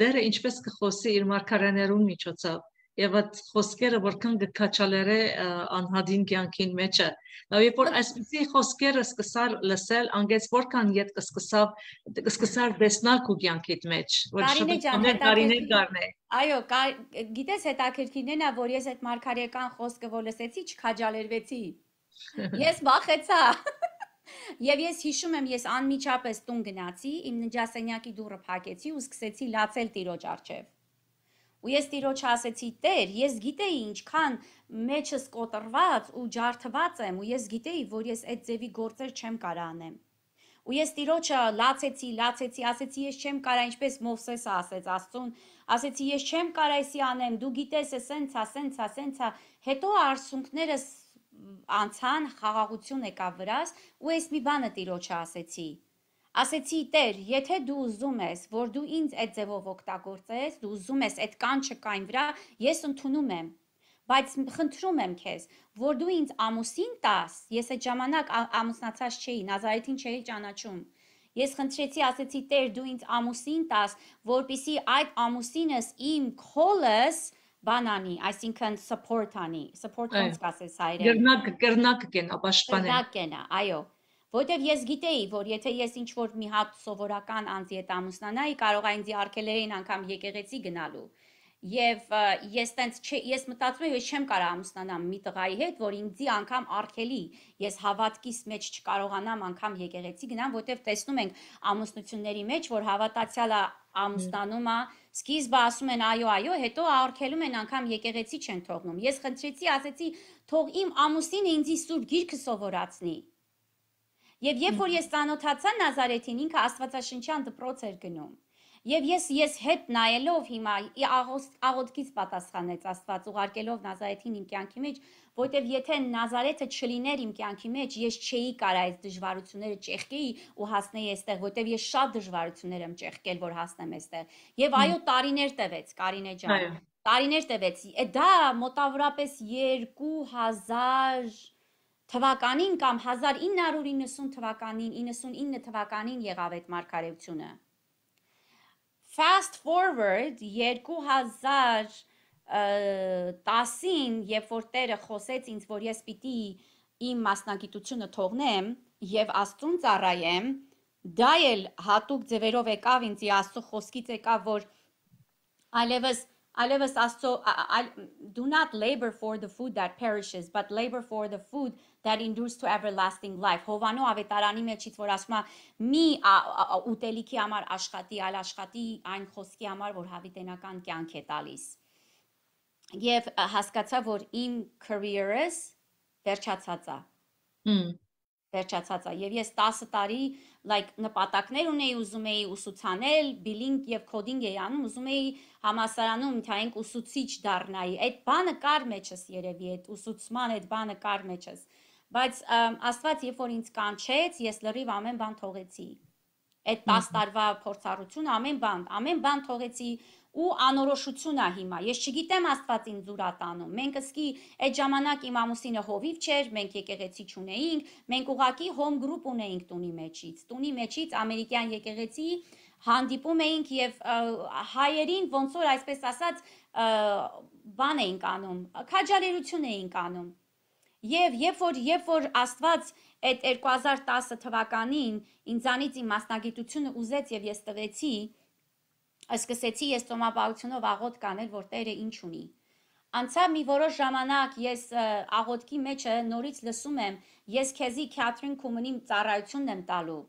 դերը ինչպես կխոսի իր մարգարեներուն միջոցով եւ այդ խոսքերը որքան գքաչալերը անհադին կյանքին մեջը Եվ որ այսպիսի խոսքերը սկսար լսել, անգեց որքան ետ կսկսավ, կսկսար դեսնալ քո կյանքիդ մեջ, որ շփոթներ տարիներ գարնե։ Այո, գիտես հետաքրքիրն է, որ ես այդ մարգարեական խոսքը որ լսեցի, չքաջալերվեցի։ Ես վախեցա։ Եվ ես հիշում եմ, ես անմիջապես տուն գնացի, իմ ննջասենյակի դուռը փակեցի ու սկսեցի լացել Տիրոջ առջև։ Ու ես տիրոջը ասեցի Տեր, ես գիտեի ինչքան մեջս կոտրված ու ջարդված եմ, ու ես գիտեի, որ ես այդ ձևի գործեր չեմ կարող անեմ։ Ու ես տիրոջը լացեցի, լացեցի, ասեցի ես չեմ կարող, ինչպես Մովսեսը ասեց Աստծուն, ասեցի ես չեմ կարող էսի անեմ, դու գիտես, սենցա, սենցա, սենցա, հետո արցունքներս անցան, խաղաղություն եկավ վրաս, ու ես մի բանը տիրոջը ասեցի։ Ասեցի Տեր, եթե դու ուզում ես, որ դու ինձ այդ ձևով օգտագործես, դու ուզում ես այդ կանչը կային վրա, ես ընդունում եմ, բայց խնդրում եմ քեզ, որ դու ինձ ամուսին տաս, ես այդ ժամանակ ամուսնացած չէի, Նազարեթին չէի ճանաչում։ Ես խնդրեցի, ասեցի Տեր, դու ինձ ամուսին տաս, որպեսզի այդ ամուսինս իմ քոլս բանանի, այսինքն support անի, support ոնց կասես հայերեն։ Գրնակ գրնակ կենա, պաշտպանեն։ Գրնակ կենա, այո։ Որտեվ ես գիտեի, որ եթե ես ինչ-որ մի հատ սովորական անձի հետ ամուսնանայի, կարող է ինձ արգելեին անգամ եկեղեցի գնալու։ Եվ ես տենց ես մտածում եմ, ես չեմ կարող ամուսնանամ մի տղայի հետ, որ ինձի անգամ արգելի, ես հավատքիս մեջ չկարողանամ անգամ եկեղեցի գնամ, որտեվ տեսնում ենք ամուսնությունների մեջ, որ հավատացյալը ամուսնանում է, սկիզբը ասում են այո, այո, հետո արգելում են անգամ եկեղեցի չեն թողնում։ Ես խնդրեցի, ասեցի, թող իմ ամուսինը ինձի սուրբ գիրքը սովորացնի։ Եվ երբ որ ես ծանոթացա Նազարեթին, ինքը աստվածաշնչյան դպրոց էր գնում։ Եվ ես ես հետ նայելով հիմա աղոթքից պատասխանեց Աստված ուղարկելով Նազարեթին իմ կյանքի մեջ, որտեվ եթե Նազարեթը չլիներ իմ կյանքի մեջ, ես չէի կարող այս դժվարությունները ճեղքեի ու հասնեի այստեղ, որտեվ ես շատ դժվարություններ եմ ճեղքել, որ հասնեմ այստեղ։ Եվ այո, տարիներ տևեց, Կարինե ջան։ Տարիներ տևեց։ Դա մոտավորապես երկու հազար թվականին կամ հազար ինը հարյուր իննսուն թվականին, իննսունինը թվականին եղավ այդ մարգարեությունը։ Fast forward երկու հազար տասին, երբ որ Տերը խոսեց ինձ, որ ես պիտի իմ մասնագիտությունը թողնեմ եւ Աստծուն ծառայեմ, դա էլ հատուկ ձևերով եկավ ինձ Աստծո խոսքից եկավ, որ այլևս Այլևս Աստծո do not labor for the food that perishes, but labor for the food that endures to everlasting life. Հովանու ավետարանի մեջից որ ասում է մի ուտելիքի համար աշխատի, այլ աշխատի այն խոսքի համար, որ հավիտենական կյանք է տալիս։ Եվ հասկացա, որ իմ career-ս վերջացած է։ Վերջացած է եւ ես տասը տարի like նպատակներ ունեի, ուզում էի ուսուցանել, բիլինգ եւ կոդինգ էի անում, ուզում էի համալսարանում թայենք ուսուցիչ դառնայի։ Այդ բանը կար մեջս երևի, այդ ուսուցման այդ բանը կար մեջս։ Բայց Աստված երբ որ ինձ կանչեց, ես լրիվ ամեն բան թողեցի։ Այդ տասը տարվա փորձառություն ամեն բան, ամեն բան թողեցի ու անորոշություն է հիմա։ Ես չգիտեմ Աստված ինձ ուր է տանում։ Մենք ըսկի այդ ժամանակ իմ ամուսինը հովիվ չէր, մենք եկեղեցի չունեինք, մենք ուղակի հոմ գրուպ ունեինք տունի մեջից։ Տունի մեջից ամերիկյան եկեղեցի հանդիպում էինք եւ հայերին ոնց որ այսպես ասած բան էինք անում, քաջալերություն էինք անում։ Եվ երբ որ երբ որ Աստված այդ երկու հազար տասը թվականին ինձանից իմ մասնագիտությունը ուզեց եւ ես տվեցի, սկսեցի ես ծոմապահությունով աղոթք կանել, որ Տերը ինչ ունի։ Անցավ մի որոշ ժամանակ ես աղոթքի մեջը նորից լսում եմ, ես քեզի Քաթրին Քումենի ծառայությունն եմ տալու։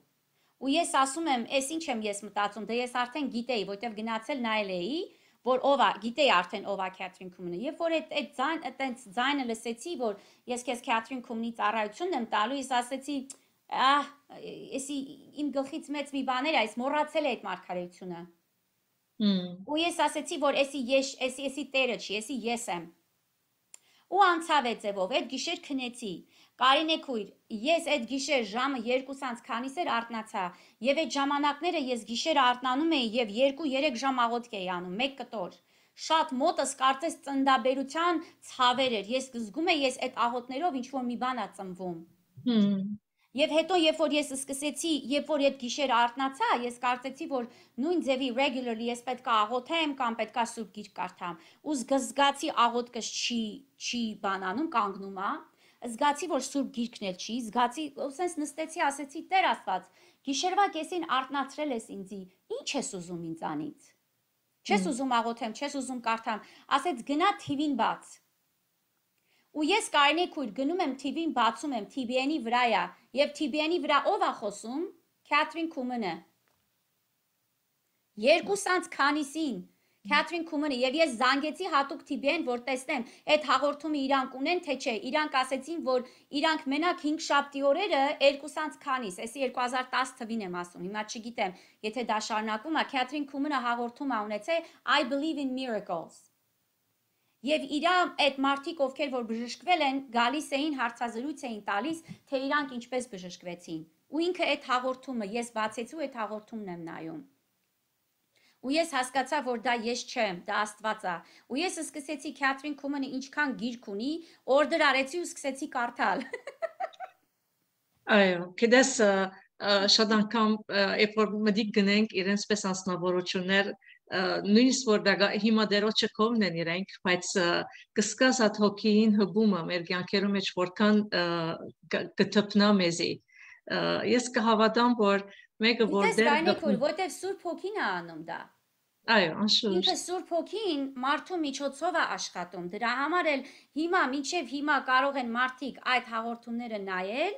Ու ես ասում եմ, «Էս ինչ եմ ես մտածում, դե ես արդեն գիտեի, որտեվ գնացել նայել էի, որ ով է, գիտեի արդեն ով է Քաթրին Քումենը։ Երբ որ այդ այդ ձայն, այտենց ձայնը լսեցի, որ ես քեզ Քաթրին Քումենի ծառայությունն եմ տալու, ես ասեցի, ահ, էսի իմ գլխից մեծ մի բան էր, այս մոռացել է այդ մարգարեությունը։ Ու ես ասեցի, որ էսի ես, էսի էսի Տերը չի, էսի ես եմ։ Ու անցավ այդ ձևով, այդ գիշեր քնեցի։ Կարինե քույր, ես այդ գիշեր ժամը երկուսից քանիս էր արթնացա, եւ այդ ժամանակները ես գիշերը արթնանում էի եւ երկու երեք ժամ աղոթք էի անում, մեկ կտոր։ Շատ մոտս կարծես ծնդաբերության ցավեր էր։ Ես զգում եի ես այդ աղոթներով ինչ որ մի բան է ծնվում։ Եվ հետո երբ որ ես սկսեցի, երբ որ այդ գիշեր արթնացա, ես կարծեցի, որ նույն ձևի regularly ես պետք է աղոթեմ կամ պետք է սուրբ գիրք կարդամ։ Ու զգացի աղոթքս չի չի բանանում, կանգնում է։ Զգացի, որ սուրբ գիրքն էլ չի, զգացի, ասես նստեցի, ասեցի, Տեր Աստված, գիշերվա կեսին արթնացրել ես ինձի, ինչ ես ուզում ինձանից։ Չես ուզում աղոթեմ, չես ուզում կարդամ, ասեց գնա թիվին բաց։ Ու ես Կարինե քույր գնում եմ թիվին, բացում եմ, T B N-ի վրա է, եւ T B N-ի վրա ով է խոսում, Քաթրին Քումենը։ Երկուսանց քանիսին, Քեթրին Քումենը եւ ես զանգեցի հատուկ Թիբիեն, որ տեսնեմ այդ հաղորդումը իրանք ունեն թե չէ։ Իրանք ասեցին, որ իրանք մենակ հինգ շաբթի օրերը երկուսանց քանիս, էսի երկու հազար տասը թվին եմ ասում։ Հիմա չգիտեմ, եթե դա շարունակվում է, Քեթրին Քումենը հաղորդում է ունեցել I believe in miracles։ Եվ իրա այդ մարդիկ, ովքեր որ բժշկվել են, գալիս էին հարցազրույց էին տալիս, թե իրանք ինչպես բժշկվեցին։ Ու ինքը այդ հաղորդումը ես բացեցի ու այդ հաղորդումն եմ նայում։ Ու ես հասկացա, որ դա ես չեմ, դա Աստված է։ Ու ես սկսեցի Քեթրին Քումենը ինչքան գիրք ունի, օրդեր արեցի ու սկսեցի կարդալ։ Այո, գիտես շատ անգամ երբ որ մտիկ գնենք իրենց պես անձնավորություններ նույնիսկ որ դա հիմա դերոջը կողմն են իրենք, բայց կսկաս այդ հոգին հբումը մեր կյանքերում մեջ որքան կթփնա մեզի։ Ես կհավատամ, որ մեկը որ դեր գտնի, որտեվ Սուրբ Հոգին է անում դա։ Այո, անշուշտ։ Ինքը Սուրբ Հոգին մարդու միջոցով է աշխատում։ Դրա համար էլ հիմա մինչև հիմա կարող են մարդիկ այդ հաղորդումները նայել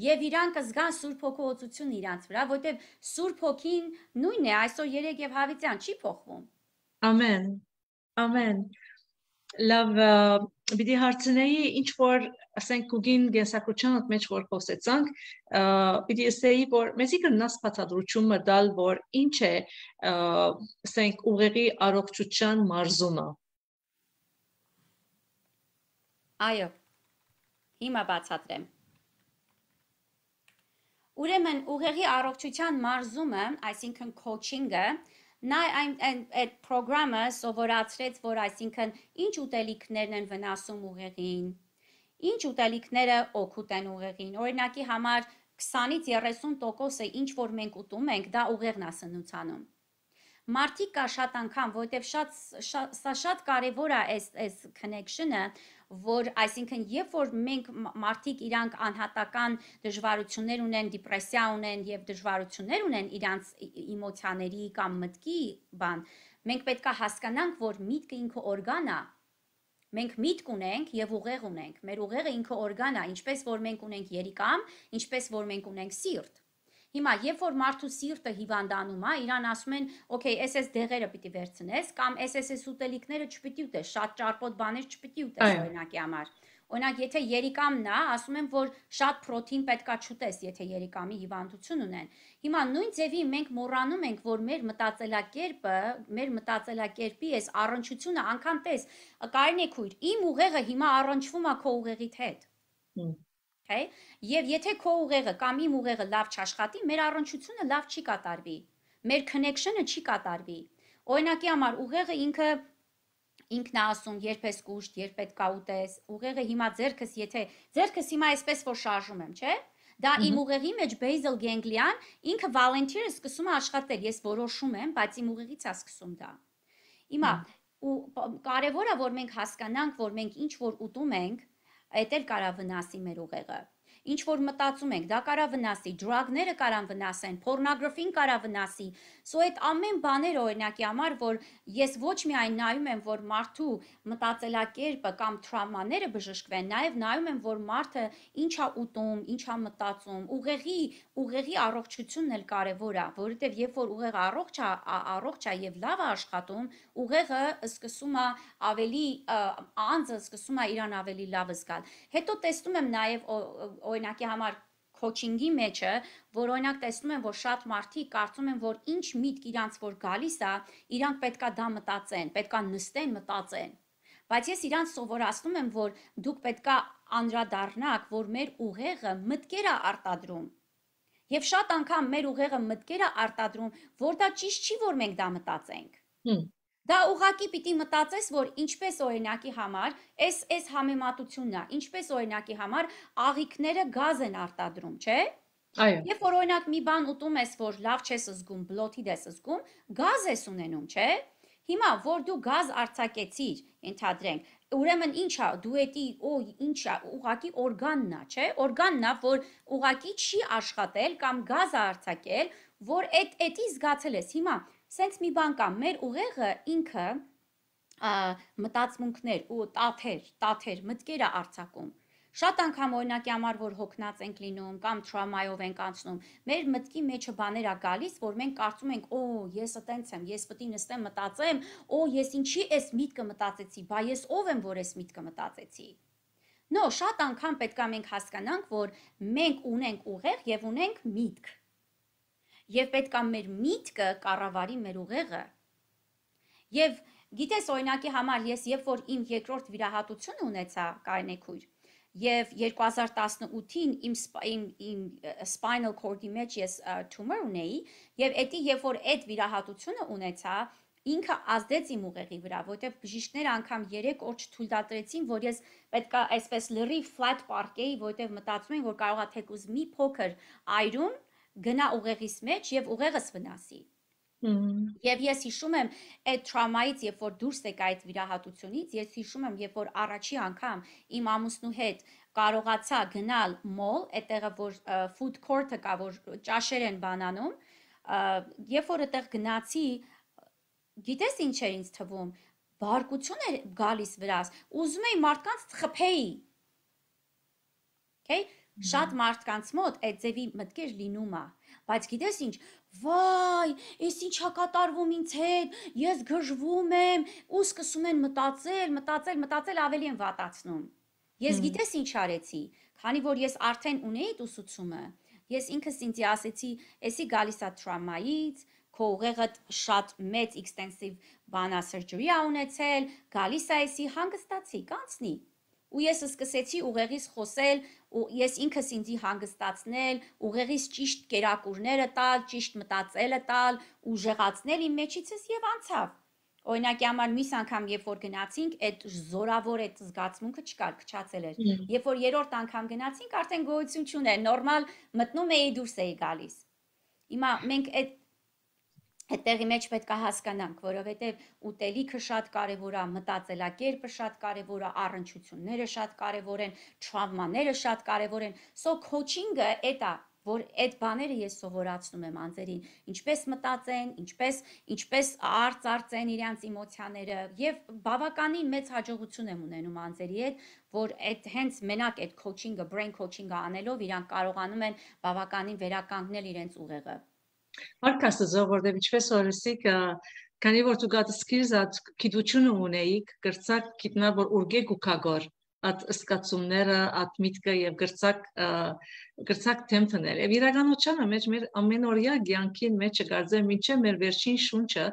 եւ իրանք զգան Սուրբ Հոգուոցություն իրանց վրա, որտեվ Սուրբ Հոգին նույնն է այսօր երեք եւ հավիտյան չի փոխվում։ Ամեն։ Ամեն։ Լավ, պիտի հարցնեի ինչ որ ասենք ուգին գեսակցության մեջ որ խոսեցանք, պիտի ասեի որ մեզի կնաս բացատրությունը դալ որ ինչ է ասենք ուղեղի առողջության մարզումը։ Այո։ Հիմա բացատրեմ։ Ուրեմն ուղեղի առողջության մարզումը, այսինքն coaching-ը, նա այդ պրոգրամը սովորացրեց, որ այսինքն ինչ ուտելիքներն են վնասում ուղեղին, ինչ ուտելիքները օգուտ են ուղեղին։ Օրինակի համար քսանից երեսուն տոկոսը ինչ որ մենք ուտում ենք, դա ուղեղն է սնուցանում։ Մարդիկ կա շատ անգամ, որովհետև շատ սա շատ կարևոր է այս այս connection-ը, որ այսինքն երբ որ մենք մարդիկ իրանք անհատական դժվարություններ ունեն, դիպրեսիա ունեն եւ դժվարություններ ունեն իրանց էմոցիաների կամ մտքի բան, մենք պետք է հասկանանք, որ միտքը ինքը օրգան է։ Մենք միտք ունենք եւ ուղեղ ունենք։ Մեր ուղեղը ինքը օրգան է, ինչպես որ մենք ունենք երիկամ, ինչպես որ մենք ունենք սիրտ։ Հիմա երբ որ մարդու սիրտը հիվանդանում է, իրան ասում են, օքեյ, էս էս դեղերը պիտի վերցնես կամ էս էս ուտելիքները չպիտի ուտես, շատ ճարպոտ բաներ չպիտի ուտես օրինակի համար։ Օրինակ, եթե երիկամն է, ասում են, որ շատ պրոթեին պետքա չուտես, եթե երիկամի հիվանդություն ունեն։ Հիմա նույն ձևի մենք մոռանում ենք, որ մեր մտածելակերպը, մեր մտածելակերպի այս առնչությունը անգամ տես, կարելի է քույր, իմ ուղեղը հիմա առնչվում է քո ուղեղիդ հետ։ Okay? Եվ եթե քո ուղեղը կամ իմ ուղեղը լավ չաշխատի, մեր առնչությունը լավ չի կատարվի։ Մեր connection-ը չի կատարվի։ Օրինակի համար ուղեղը ինքը ինքն է ասում, երբ ես կուշտ, երբ պետք է ուտես։ Ուղեղը հիմա ձերքս, եթե ձերքս հիմա այսպես որ շարժում եմ, չէ՞։ Դա իմ ուղեղի մեջ basal ganglion, ինքը volunteer-ը սկսում է աշխատել, ես որոշում եմ, բայց իմ ուղեղից է սկսում դա։ Հիմա ու կարևոր է որ մենք հասկանանք, որ մենք ինչ որ ուտում ենք, այդ էլ կարա վնասի մեր ուղեղը։ Ինչ որ մտածում ենք, դա կարա վնասի, drug-ները կարան վնասեն, pornography-ն կարա վնասի։ So այդ ամեն բաները օրինակի համար, որ ես ոչ միայն նայում եմ, որ մարդու մտածելակերպը կամ տրավմաները բժշկվեն, նաև նայում եմ, որ մարդը ինչ է ուտում, ինչ է մտածում, ուղեղի, ուղեղի առողջությունն էլ կարևոր է, որովհետև երբ որ ուղեղը առողջ է, առողջ է եւ լավ է աշխատում, ուղեղը սկսում է ավելի անձը սկսում է իրան ավելի լավ զգալ։ Հետո տեսնում եմ նաև օրինակի համար coaching-ի մեջը, որ օրինակ տեսնում եմ, որ շատ մարդիկ կարծում են, որ ինչ միտք իրանց որ գալիս է, իրանք պետքա դա մտածեն, պետքա նստեն, մտածեն։ Բայց ես իրանց սովորացնում եմ, որ դուք պետքա անդրադառնաք, որ մեր ուղեղը մտքեր է արտադրում։ Եվ շատ անգամ մեր ուղեղը մտքեր է արտադրում, որ դա ճիշտ չի, որ մենք դա մտածենք։ Դա ուղղակի պիտի մտածես, որ ինչպես օրինակի համար, այս այս համեմատությունն է, ինչպես օրինակի համար աղիքները գազ են արտադրում, չէ՞։ Այո։ Երբ որ օրինակ մի բան ուտում ես, որ լավ չես զգում, բլոթիդ ես զգում, գազ ես ունենում, չէ՞։ Հիմա որ դու գազ արձակեցիր, ենթադրենք, ուրեմն ինչ է, դու էդի օ ինչ է, ուղղակի օրգանն է, չէ՞։ Օրգանն է, որ ուղղակի չի աշխատել կամ գազ է արձակել, որ այդ էդի զգացել ես։ Հիմա սենց մի բան կա, մեր ուղեղը ինքը մտածմունքներ ու տաթեր, տաթեր, մտքեր է արձակում։ Շատ անգամ օրինակի համար որ հոգնած ենք լինում կամ տրավմայով ենք անցնում, մեր մտքի մեջը բաներ ա գալիս, որ մենք կարծում ենք, օ, ես այտենց եմ, ես պետք է նստեմ մտածեմ, օ, ես ինչի այս միտքը մտածեցի, բա ես ով եմ, որ այս միտքը մտածեցի։ No, շատ անգամ պետք է մենք հասկանանք, որ մենք ունենք ուղեղ եւ ունենք միտք։ Եվ պետք է մեր միտքը կառավարի մեր ուղեղը։ Եվ գիտես օրինակի համար ես երբ որ իմ երկրորդ վիրահատությունը ունեցա Կարինեքույր, եւ երկու հազար տասնութին իմ իմ իմ spinal cord-ի մեջ ես tumor ունեի, եւ էդի երբ որ այդ վիրահատությունը ունեցա, ինքը ազդեց իմ ուղեղի վրա, որտեղ բժիշկները անգամ երեք օր չթույլատրեցին, որ ես պետք է այսպես լրիվ flat պարկեի, որտեղ մտածում են, որ կարող է թեկուզ մի փոքր այրում գնա ուղեղիս մեջ եւ ուղեղս վնասի։ Եվ ես հիշում եմ այդ տրավմայից, երբ որ դուրս եկա այդ վիրահատությունից, ես հիշում եմ, երբ որ առաջի անգամ իմ ամուսնու հետ կարողացա գնալ մոլ, այդտեղը որ food court-ը կա, որ ճաշեր են բանանում, երբ որ այդտեղ գնացի, գիտես ինչ էր ինձ թվում, բարկություն էր գալիս վրաս, ուզում էի մարդկանց խփեի։ Okay? Շատ մարդկանց մոտ այդ ձևի մտքեր լինում է, բայց գիտես ինչ, վայ, ես ինչա կատարվում ինձ հետ, ես գժվում եմ, ու սկսում են մտածել, մտածել, մտածել ավելի են վատացնում։ Ես գիտես ինչ արեցի, քանի որ ես արդեն ունեի այդ ուսուցումը, ես ինքս ինձ ասեցի, էսի գալիս է տրավմայից, քո ուղեղը շատ մեծ extensive բանա surgery ա ունեցել, գալիս է էսի հանգստացի, կանցնի։ Ու ես սկսեցի ուղեղից խոսել, ու ես ինքս ինձի հանգստացնել, ուղեղից ճիշտ կերակուրները տալ, ճիշտ մտածելը տալ, ուժեղացնել իմ մեջիցս եւ անցավ։ Օրինակի համար մյուս անգամ երբ որ գնացինք, այդ զորավոր այդ զգացմունքը չկար, քչացել էր։ Երբ որ երրորդ անգամ գնացինք, արդեն գոյություն չուներ, նորմալ մտնում էի, դուրս էի գալիս։ Հիմա մենք այդ Այդտեղի մեջ պետք է հասկանանք, որովհետև ուտելիքը շատ կարևոր է, մտածելակերպը շատ կարևոր է, առնչությունները շատ կարևոր են, տրավմաները շատ կարևոր են։ So coaching-ը էդ է, որ այդ բաները ես սովորացնում եմ անձերին, ինչպես մտածեն, ինչպես ինչպես արծարծեն իրենց էմոցիաները եւ բավականին մեծ հաջողություն եմ ունենում անձերի հետ, որ այդ հենց մենակ այդ coaching-ը, brain coaching-ը անելով իրանք կարողանում են բավականին վերականգնել իրենց ուղեղը։ Արկաստը որտեղ ինչպես օրսիկ քանի որ դու գաց սկիզած գիտությունը ունեիք գրծակ գիտնա որ ուրգեկ ու կագոր at սկացումները at միտքը եւ գրծակ գրծակ թեմփներ եւ իրականությանը մեջ մեր ամենօրյա ցանկին մեջ գարձեմ ինչե մեր վերջին շունչը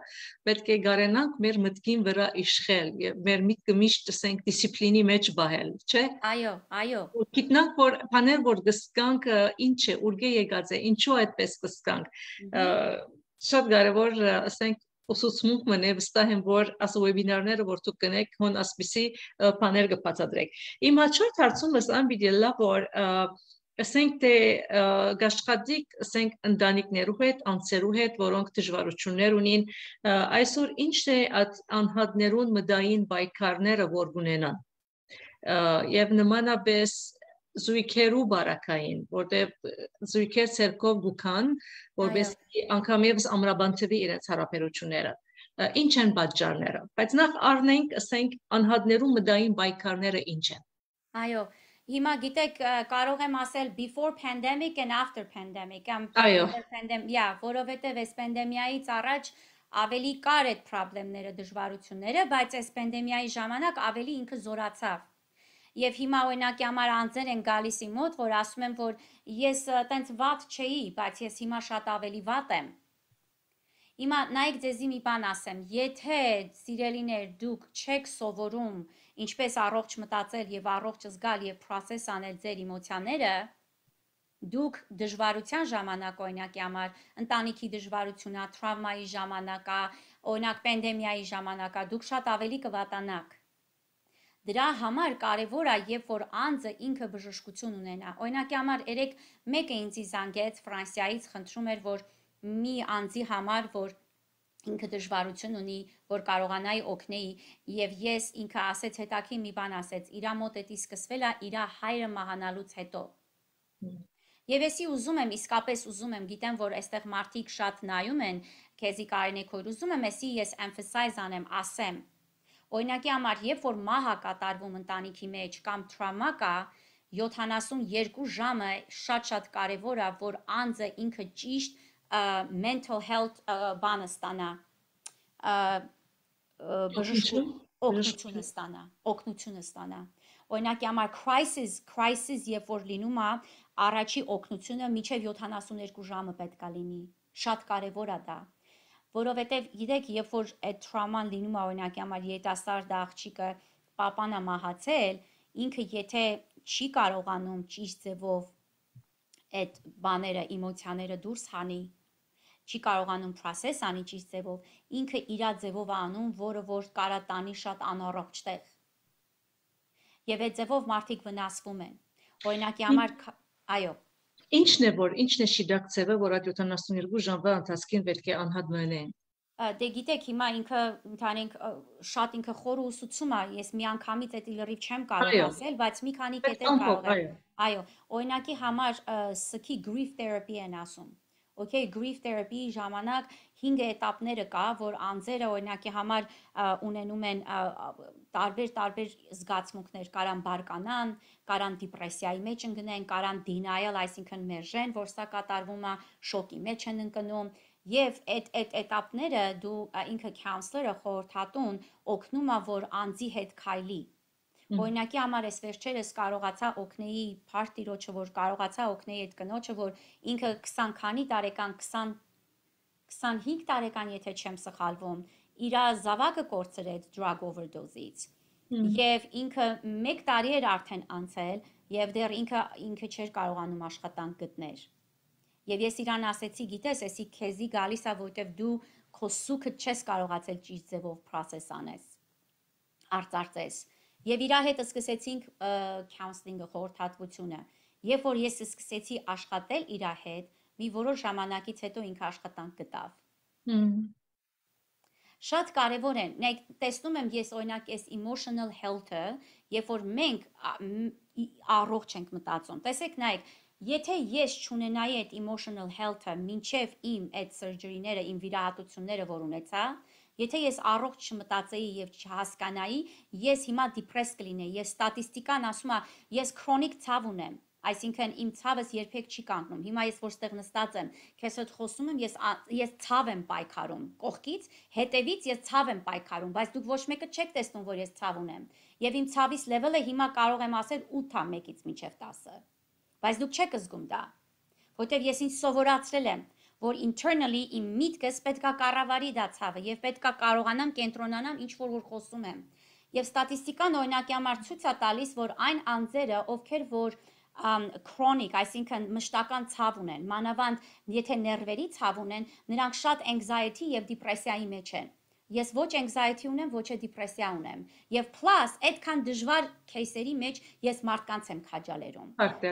պետք է գարենանք մեր մտքին վրա իշխել եւ մեր միտքը միշտ ասենք դիսցիպլինի մեջ բահել չէ այո այո գիտնանք որ բաներ որ գսկանք ինչ է ուրգե եկած է ինչու այդպես գսկանք շատ կարևոր ասենք ուսուցմունք մնե վստահ եմ որ աս վեբինարները որ դուք կնեք հոն ասպիսի բաներ կբացատրեք իմ հաջորդ հարցումս ամբիդելա որ ասենք թե գաշխատիկ ասենք ընտանիքներու հետ անձերու հետ որոնք դժվարություններ ունին այսօր ինչ է անհատներուն մտային պայքարները որ ունենան եւ նմանապես զույգերու բարակային, որտեղ զույգեր ցերկով գուքան, որպես անգամ եւս ամրաբանթվի իրենց հարաբերությունները։ Ինչ են պատճառները, բայց նախ առնենք, ասենք, անհատներու մտային պայքարները ինչ են։ Այո, հիմա գիտեք, կարող եմ ասել before pandemic and after pandemic, կամ pandemic, yeah, որովհետեւ այս պանդեմիայից առաջ ավելի կար այդ խնդիրները, դժվարությունները, բայց այս պանդեմիայի ժամանակ ավելի ինքը զորացավ։ Եվ հիմա օրինակի համար անձեր են գալիս իմ մոտ, որ ասում են, որ ես տենց վատ չէի, բայց ես հիմա շատ ավելի վատ եմ։ Հիմա նայեք ձեզի մի բան ասեմ, եթե սիրելիներ դուք չեք սովորում ինչպես առողջ մտածել եւ առողջ զգալ եւ process անել ձեր էմոցիաները, դուք դժվարության ժամանակ օրինակի համար, ընտանիքի դժվարությունա, տրավմայի ժամանակա, օրինակ պանդեմիայի ժամանակա, դուք շատ ավելի կվատանաք։ Դրա համար կարևոր է, երբ որ անձը ինքը բժշկություն ունենա։ Օրինակի համար երեք մեկը ինձ զանգեց Ֆրանսիայից, խնդրում էր, որ մի անձի համար, որ ինքը դժվարություն ունի, որ կարողանայի օգնեի, եւ ես ինքը ասեց հետաքրքիր մի բան ասեց, իրա մոտ էդի սկսվել է իրա հայրը մահանալուց հետո։ Եվ եսի ուզում եմ, իսկապես ուզում եմ, գիտեմ, որ այստեղ մարդիկ շատ նայում են, քեզի Կարինեքույր, ուզում եմ եսի ես emphasize անեմ, ասեմ Օրինակի համար, երբ որ մահ է կատարվում ընտանիքի մեջ կամ տրավմա կա, յոթանասունյոթ ժամը շատ-շատ կարևոր է, որ անձը ինքը ճիշտ mental health բանը ստանա, բժշկություն, օգնությունը ստանա, օգնությունը ստանա։ Օրինակի համար crisis, crisis երբ որ լինում է, առաջի օգնությունը մինչև յոթանասունյոթ ժամը պետք է լինի։ Շատ կարևոր է դա։ Որովհետև գիտեք, երբ որ այդ տրավման լինում է, օրինակի համար երիտասարդ աղջիկը պապան է մահացել, ինքը եթե չի կարողանում ճիշտ ձևով այդ բաները, էմոցիաները դուրս հանի, չի կարողանում process անի ճիշտ ձևով, ինքը իր ձևով է անում, որը որ կարա տանի շատ անառողջ տեղ։ Եվ այդ ձևով մարդիկ վնասվում են։ Օրինակի համար, այո։ Ինչն է որ, ինչն է շիդակ ձևը, որ այդ յոթանասունյոթ ժամվա ընթացքին պետք է անհատ մնեն։ Դե գիտեք, հիմա ինքը ընդհանենք շատ ինքը խորը ուսուցում է, ես մի անգամից այդ լրիվ չեմ կարող ասել, բայց մի քանի կետեր կարող եմ։ Այո, օրինակի համար սքի grief therapy են ասում։ Okay, grief therapy ժամանակ հինգ էտապները կա, որ անձերը օրինակի համար ունենում են տարբեր-տարբեր զգացմունքներ, կարան բարկանան, կարան դիպրեսիայի մեջ ընկնեն, կարան denial, այսինքն մերժեն, որ սա կատարվում է, շոկի մեջ են ընկնում, եւ այդ այդ էտապները դու ինքը counselor-ը խորհրդատուն օգնում է, որ անձի հետ քայլի։ Օրինակի համար ես վերջերս կարողացա օգնեի partyrոջը, որ կարողացա օգնեի այդ կնոջը, որ ինքը քսան քանի տարեկան, քսան քսանհինգ տարեկան, եթե չեմ սխալվում, իր զավակը կորցրեց drug overdose-ից։ Եվ ինքը մեկ տարի էր արդեն անցել, եւ դեռ ինքը ինքը չէր կարողանում աշխատանք գտնել։ Եվ ես իրան ասեցի, գիտես, էսի քեզի գալիս է, որտեվ դու քո սուքը չես կարողացել ճիշտ ձևով process անես, արծարծես։ Եվ իր հետ սկսեցինք counseling-ը, խորհրդատվությունը։ Երբ որ ես սկսեցի աշխատել իր հետ, մի որոշ ժամանակից հետո ինքը աշխատանք գտավ։ Շատ կարևոր է։ Նայեք, տեսնում եմ ես օրինակ այս emotional health-ը, երբ որ մենք առողջ ենք մտածում։ Տեսեք, նայեք, եթե ես չունենայի այդ emotional health-ը մինչև իմ այդ surgery-ները, իմ վիրահատությունները, որ ունեցա, եթե ես առողջ չմտածեի եւ չհասկանայի, ես հիմա depress կլինեի, ես ստատիստիկան ասում է, ես chronic ցավ ունեմ, այսինքն իմ ցավս երբեք չի կանգնում։ Հիմա ես որ ստեղ նստած եմ, քեզ հետ խոսում եմ, ես ես ցավ եմ պայքարում, կողքից, հետևից ես ցավ եմ պայքարում, բայց դուք ոչ մեկը չեք տեսնում, որ ես ցավ ունեմ։ Եվ իմ ցավիս level-ը հիմա կարող եմ ասել ութ է մեկից մինչև տասը։ Բայց դուք չեք զգում դա, որտեղ ես ինձ սովորացրել եմ, որ internally իմ միտքս պետքա կառավարի դա ցավը եւ պետքա կարողանամ կենտրոնանամ ինչ որ որ խոսում եմ։ Եվ ստատիստիկան օրինակի համար ցույց է տալիս, որ այն անձերը, ովքեր որ chronic, այսինքն մշտական ցավ ունեն, մանավանդ եթե ներվերի ցավ ունեն, նրանք շատ anxiety եւ դիպրեսիայի մեջ են։ Ես ոչ anxiety ունեմ, ոչ է դիպրեսիա ունեմ։ Եվ plus այդքան դժվար кейսերի մեջ ես մարդկանց եմ քաջալերում։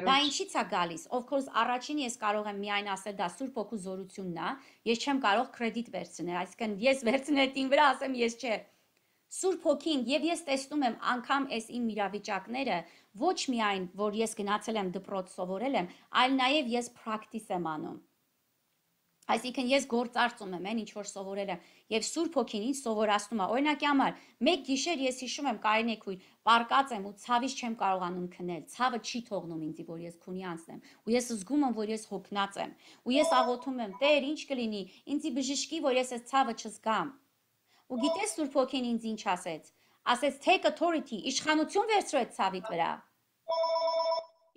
Դա ինչի՞ց է գալիս։ Of course, առաջին ես կարող եմ միայն ասել դա Սուրբ Հոգու զորությունն է, ես չեմ կարող կրեդիտ վերցնել, այսինքն ես վերցնել տին վրա ասեմ ես չէ։ Սուրբ Հոգին եւ ես տեսնում եմ անգամ այս իմ իրավիճակները ոչ միայն որ ես գնացել եմ դպրոց սովորել եմ, այլ նաեւ ես practice եմ անում։ Այսինքն ես գործարծում եմ, այն ինչ որ սովորել եմ, եւ Սուրբ Հոգին ինձ սովորացնում է։ Օրինակի համար, մեկ գիշեր ես հիշում եմ Կարինե քույր, պարկած եմ ու ցավից չեմ կարողանում քնել։ Ցավը չի թողնում ինձի, որ ես քունի անցնեմ։ Ու ես զգում եմ, որ ես հոգնած եմ։ Ու ես աղոթում եմ, Տեր, ինչ կլինի, ինձի բժշկի, որ ես այս ցավը չզգամ։ Ու գիտես Սուրբ Հոգին ինձ ինչ ասեց։ Ասեց take authority, իշխանություն վերցրու այդ ցավիդ վրա։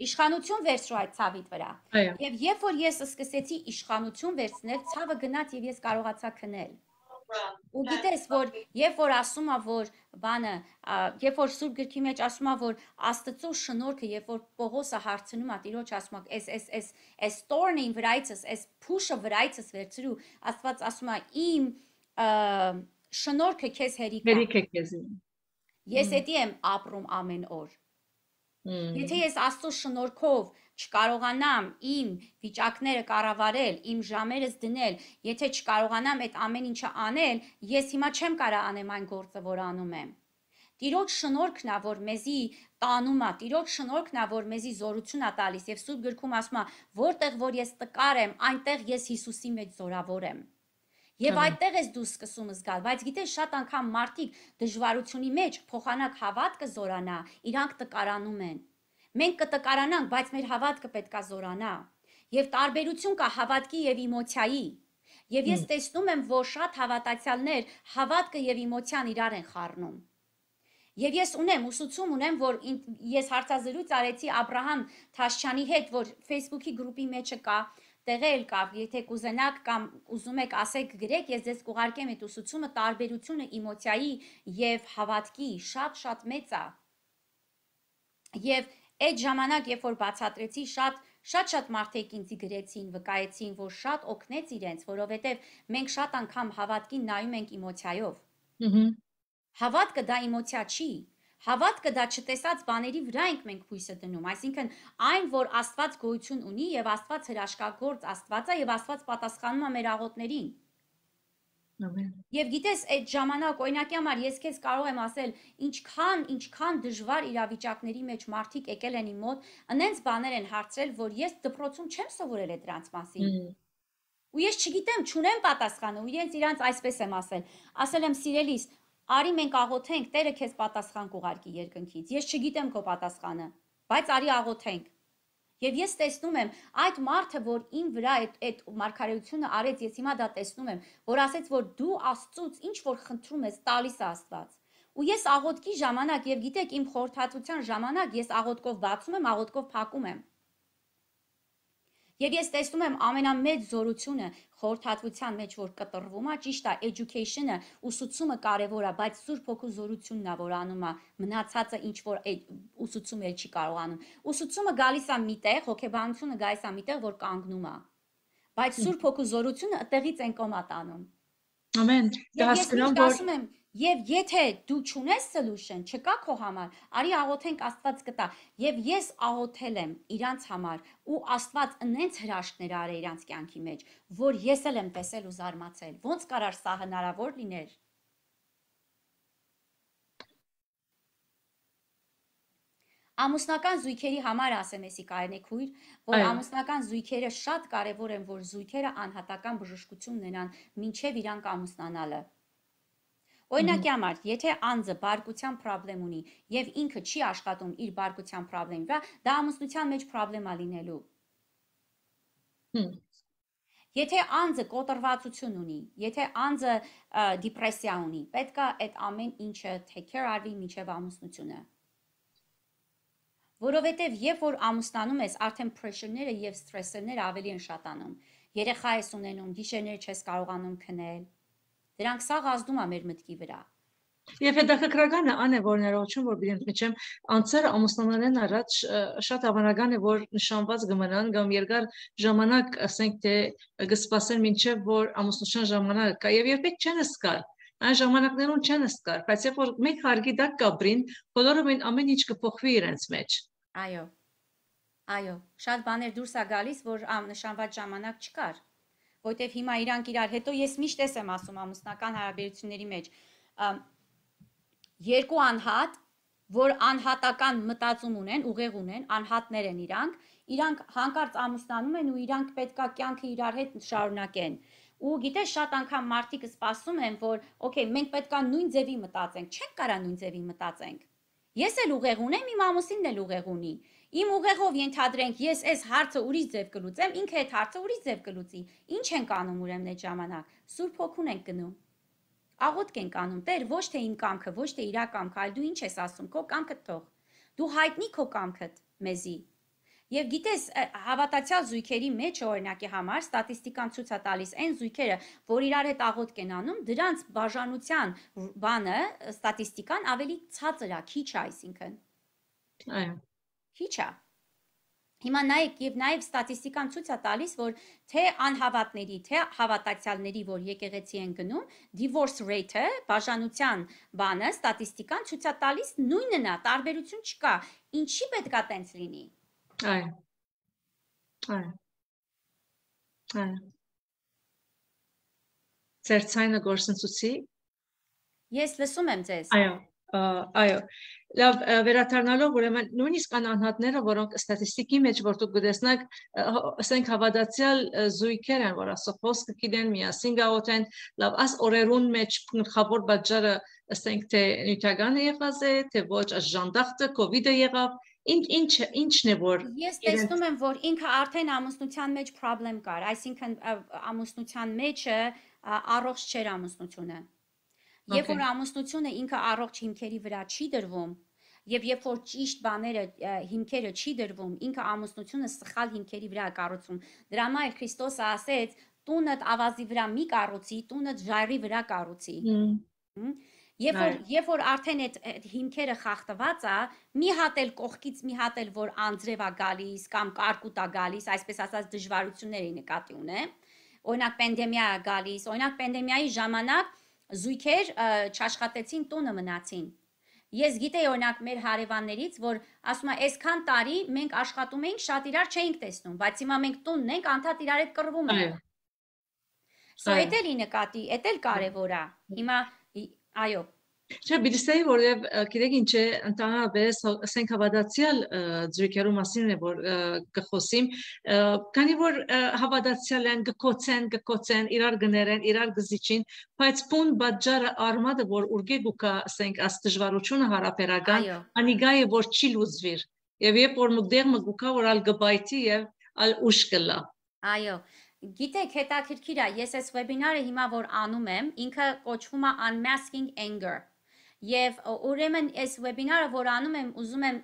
Իշխանություն վերցրու այդ ցավիդ վրա։ Եվ երբ որ ես սկսեցի իշխանություն վերցնել, ցավը գնաց եւ ես կարողացա քնել։ Ու գիտես, որ երբ որ ասում է, որ բանը, երբ որ Սուրբ գրքի մեջ ասում է, որ Աստծո շնորհքը, երբ որ Պողոսը հարցնում է, Տիրոջ ասում է, այս այս այս այս thorn-ին վրայցս, այս փուշը վրայցս վերցրու, Աստված ասում է, իմ շնորհքը քեզ հերիք է։ Հերիք է քեզ։ Ես էդի եմ ապրում ամեն օր։ Եթե ես Աստծո շնորհքով չկարողանամ իմ վիճակները կառավարել, իմ ժամերս դնել, եթե չկարողանամ այդ ամեն ինչը անել, ես հիմա չեմ կարող անեմ այն գործը, որ անում եմ։ Տիրոջ շնորհքն է, որ մեզի տանում է, Տիրոջ շնորհքն է, որ մեզի զորություն է տալիս, եւ Սուրբ գրքում ասում է, որտեղ որ ես տկար եմ, այնտեղ ես Հիսուսի մեջ զորավոր եմ։ Եվ այդտեղ ես դու սկսում զգալ, բայց գիտես շատ անգամ մարդիկ դժվարությունի մեջ փոխանակ հավատքը զորանա, իրանք տկարանում են։ Մենք կտկարանանք, բայց մեր հավատքը պետք է զորանա։ Եվ տարբերություն կա հավատքի եւ էմոցիայի։ Եվ ես տեսնում եմ, որ շատ հավատացյալներ հավատքը եւ էմոցիան իրար են խառնում։ Եվ ես ունեմ ուսուցում ունեմ, որ ես հարցազրույց արեցի Աբրահամ Թաշչյանի հետ, որ Facebook-ի գրուպի մեջը կա, տեղել կա, եթե կուզենաք կամ ուզում եք ասեք գրեք, ես ձեզ կուղարկեմ այդ ուսուցումը, տարբերությունը էմոցիայի եւ հավատքի շատ-շատ մեծ է։ Եվ այդ ժամանակ, երբ որ բացատրեցի, շատ շատ-շատ մարդիկ ինձ գրեցին, վկայեցին, որ շատ օգնեց իրենց, որովհետեւ մենք շատ անգամ հավատքին նայում ենք էմոցիայով։ Հավատքը դա էմոցիա չի։ Հավատքը դա չտեսած բաների վրա ենք մենք հույսը դնում, այսինքն այն, որ Աստված գոյություն ունի եւ Աստված հրաշքագործ Աստված է եւ Աստված պատասխանում է մեր աղոթներին։ Ամեն։ Եվ գիտես, այդ ժամանակ օրինակի համար ես քեզ կարող եմ ասել, ինչքան, ինչքան դժվար իրավիճակների մեջ մարդիկ եկել են իմ մոտ, անենց բաներ են հարցրել, որ ես դպրոցում չեմ սովորել այդ դրանց մասին։ Ու ես չգիտեմ, չունեմ պատասխանը, ու իրենց իրանց այսպես եմ ասել, ասել եմ սիրելիս, արի մենք աղոթենք, Տերը քեզ պատասխան կուղարկի երկնքից։ Ես չգիտեմ քո պատասխանը, բայց արի աղոթենք։ Եվ ես տեսնում եմ այդ մարդը, որ իմ վրա այդ այդ մարգարեությունը արեց, ես հիմա դա տեսնում եմ, որ ասեց, որ դու Աստծուց ինչ որ խնդրում ես, տալիս է Աստված։ Ու ես աղոթքի ժամանակ եւ գիտեք իմ խորհրդատվության ժամանակ ես աղոթքով բացում եմ, աղոթքով փակում եմ։ Եվ ես տեսնում եմ ամենամեծ զորությունը խորհրդատվության մեջ, որ կտրվում է, ճիշտ է, education-ը, ուսուցումը կարևոր է, բայց Սուրբ Հոգու զորությունն է, որ անում է, մնացածը ինչ որ ուսուցումը չի կարող անում։ Ուսուցումը գալիս է միտեղ, հոգեբանությունը գալիս է միտեղ, որ կանգնում է։ Բայց Սուրբ Հոգու զորությունը այդտեղից են կոմատ անում։ Ամեն։ Դա հասկանում եմ, եւ եթե դու չունես solution, չկա քո համար, արի աղոթենք Աստված կտա։ Եվ ես աղոթել եմ իրանց համար ու Աստված ընենց հրաշքներ արել իրանց կյանքի մեջ, որ ես էլ եմ տեսել ու զարմացել։ Ոնց կարար սա հնարավոր լիներ։ Ամուսնական զույգերի համար ասեմ էսի կարենե քույր, որ ամուսնական զույգերը շատ կարևոր են, որ զույգերը անհատական բժշկություն ունենան մինչև իրանք ամուսնանալը։ Օրինակի համար, եթե անձը բարկության խնդրեմ ունի եւ ինքը չի աշխատում իր բարկության խնդրի վրա, դա ամուսնության մեջ խնդրեմ է լինելու։ Եթե անձը կոտրվածություն ունի, եթե անձը դիպրեսիա ունի, պետք է այդ ամեն ինչը take care արվի մինչև ամուսնությունը։ Որովհետև երբ որ ամուսնանում ես, արդեն pressure-ները եւ stress-ները ավելի են շատանում։ Երեխա ես ունենում, գիշերներ չես կարողանում քնել։ Դրանք սաղ ազդում է մեր մտքի վրա։ Եվ հետաքրքրականը ան է, որ ներողություն, որ բիդեմ միջեմ անձերը ամուսնանալեն առաջ շատ հավանական է, որ նշանված կմնան կամ երկար ժամանակ, ասենք թե կսպասեն մինչև որ ամուսնության ժամանակ կա եւ երբեք չեն սկալ։ Այն ժամանակներում չեն սկալ, բայց երբ որ մեկ հարգի դակ կապրին, բոլորը մեն ամեն ինչ կփոխվի իրենց մեջ։ Այո։ Այո, շատ բաներ դուրս է գալիս, որ նշանված ժամանակ չկար։ Որտեվ հիմա իրանք իրար, հետո ես միշտ եմ ասում ամուսնական հարաբերությունների մեջ, երկու անհատ, որ անհատական մտածում ունեն, ուղեղ ունեն, անհատներ են իրանք, իրանք հանկարծ ամուսնանում են ու իրանք պետքա կյանքը իրար հետ շարունակեն։ Ու գիտես շատ անգամ մարդիկ սպասում են, որ օքեյ, մենք պետքա նույն ձևի մտածենք, չենք կարա նույն ձևի մտածենք։ Ես էլ ուղեղ ունեմ, իմ ամուսինն էլ ուղեղ ունի։ Իմ ուղեղով ենթադրենք, ես այս հարցը ուրիշ ձև կլուծեմ, ինքը այդ հարցը ուրիշ ձև կլուծի։ Ինչ ենք անում ուրեմն այդ ժամանակ։ Սուրբ Հոգուն ենք գնում։ Աղոթք ենք անում, Տեր, ոչ թե իմ կամքը, ոչ թե իրա կամքը, այլ դու ինչ ես ասում, քո կամքը թող։ Դու հայտնի քո կամքդ մեզի։ Եվ գիտես, հավատացյալ զույգերի մեջ օրինակի համար ստատիստիկան ցույց է տալիս այն զույգերը, որ իրար հետ աղոթք են անում, դրանց բաժանության բանը, ստատիստիկան ավելի ցածր է, քիչ է, այսինքն։ Այո։ Քիչ է։ Հիմա նայեք եւ նաեւ ստատիստիկան ցույց է տալիս, որ թե անհավատների, թե հավատացյալների, որ եկեղեցի են գնում, divorce rate-ը, բաժանության բանը, ստատիստիկան ցույց է տալիս նույնն է, տարբերություն չկա։ Ինչի պետք է տենց լինի։ Այո։ Այո։ Այո։ Ձեր ցայնը գործընծուցի։ Ես լսում եմ ձեզ։ Այո, այո։ Լավ, վերադառնալով ուրեմն նույնիսկ կան անհատները, որոնք ստատիստիկի մեջ որ դուք գտեսնեք, ասենք հավատացյալ զույգեր են, որ ասող խոսքը գիտեն, միասին գաղութեն, լավ, աս օրերուն մեջ գլխավոր պատճառը ասենք թե նյութականը եղած է, թե ոչ ժանդախտը, կովիդը եղավ, Ինչ ինչ ինչն է որ Ես տեսնում եմ, որ ինքը արդեն ամուսնության մեջ problem կար, այսինքն ամուսնության մեջը առողջ չէր ամուսնությունը։ Երբ որ ամուսնությունը ինքը առողջ հիմքերի վրա չի դրվում, եւ երբ որ ճիշտ բաները հիմքերը չի դրվում, ինքը ամուսնությունը սխալ հիմքերի վրա է կառուցում։ Դրա համար Քրիստոսը ասեց. «Տունդ ավազի վրա մի կառուցի, տունդ ժայռի վրա կառուցի»։ Երբ որ երբ որ արդեն այդ հիմքերը խախտված է, մի հատ էլ կողքից մի հատ էլ որ անձրև է գալիս կամ կարկուտ է գալիս, այսպես ասած դժվարությունների նկատի ունեմ։ Օրինակ պանդեմիա է գալիս, օրինակ պանդեմիայի ժամանակ զույգեր չաշխատեցին, տունը մնացին։ Ես գիտեի օրինակ մեր հարևաններից, որ ասում է, այսքան տարի մենք աշխատում էինք, շատ իրար չէինք տեսնում, բայց հիմա մենք տունն ենք, անդադ իրար հետ կռվում ենք։ Սա էդ էլի նկատի, էդ էլ կարևոր է։ Հիմա այո։ Չէ, բիլիսեի որև գիտեք ինչ է ընդհանրապես ասենք հավատացյալ զույգերու մասին է որ կխոսիմ, քանի որ հավատացյալ են գկոցեն, գկոցեն, իրար գներեն, իրար գզիչին, բայց պուն բաժարը արմատը որ ուրգե գուկա ասենք աս դժվարությունը հարաբերական, անիգա է որ չի լուծվիր։ Եվ երբ որ մուտեղ մգուկա որ ալ գբայթի եւ ալ ուշ կլա։ Այո։ Գիտեք, հետաքրքիր է, ես այս վեբինարը հիմա որ անում եմ, ինքը կոչվում է Unmasking Anger։ Եվ ուրեմն այս վեբինարը որ անում եմ, ուզում եմ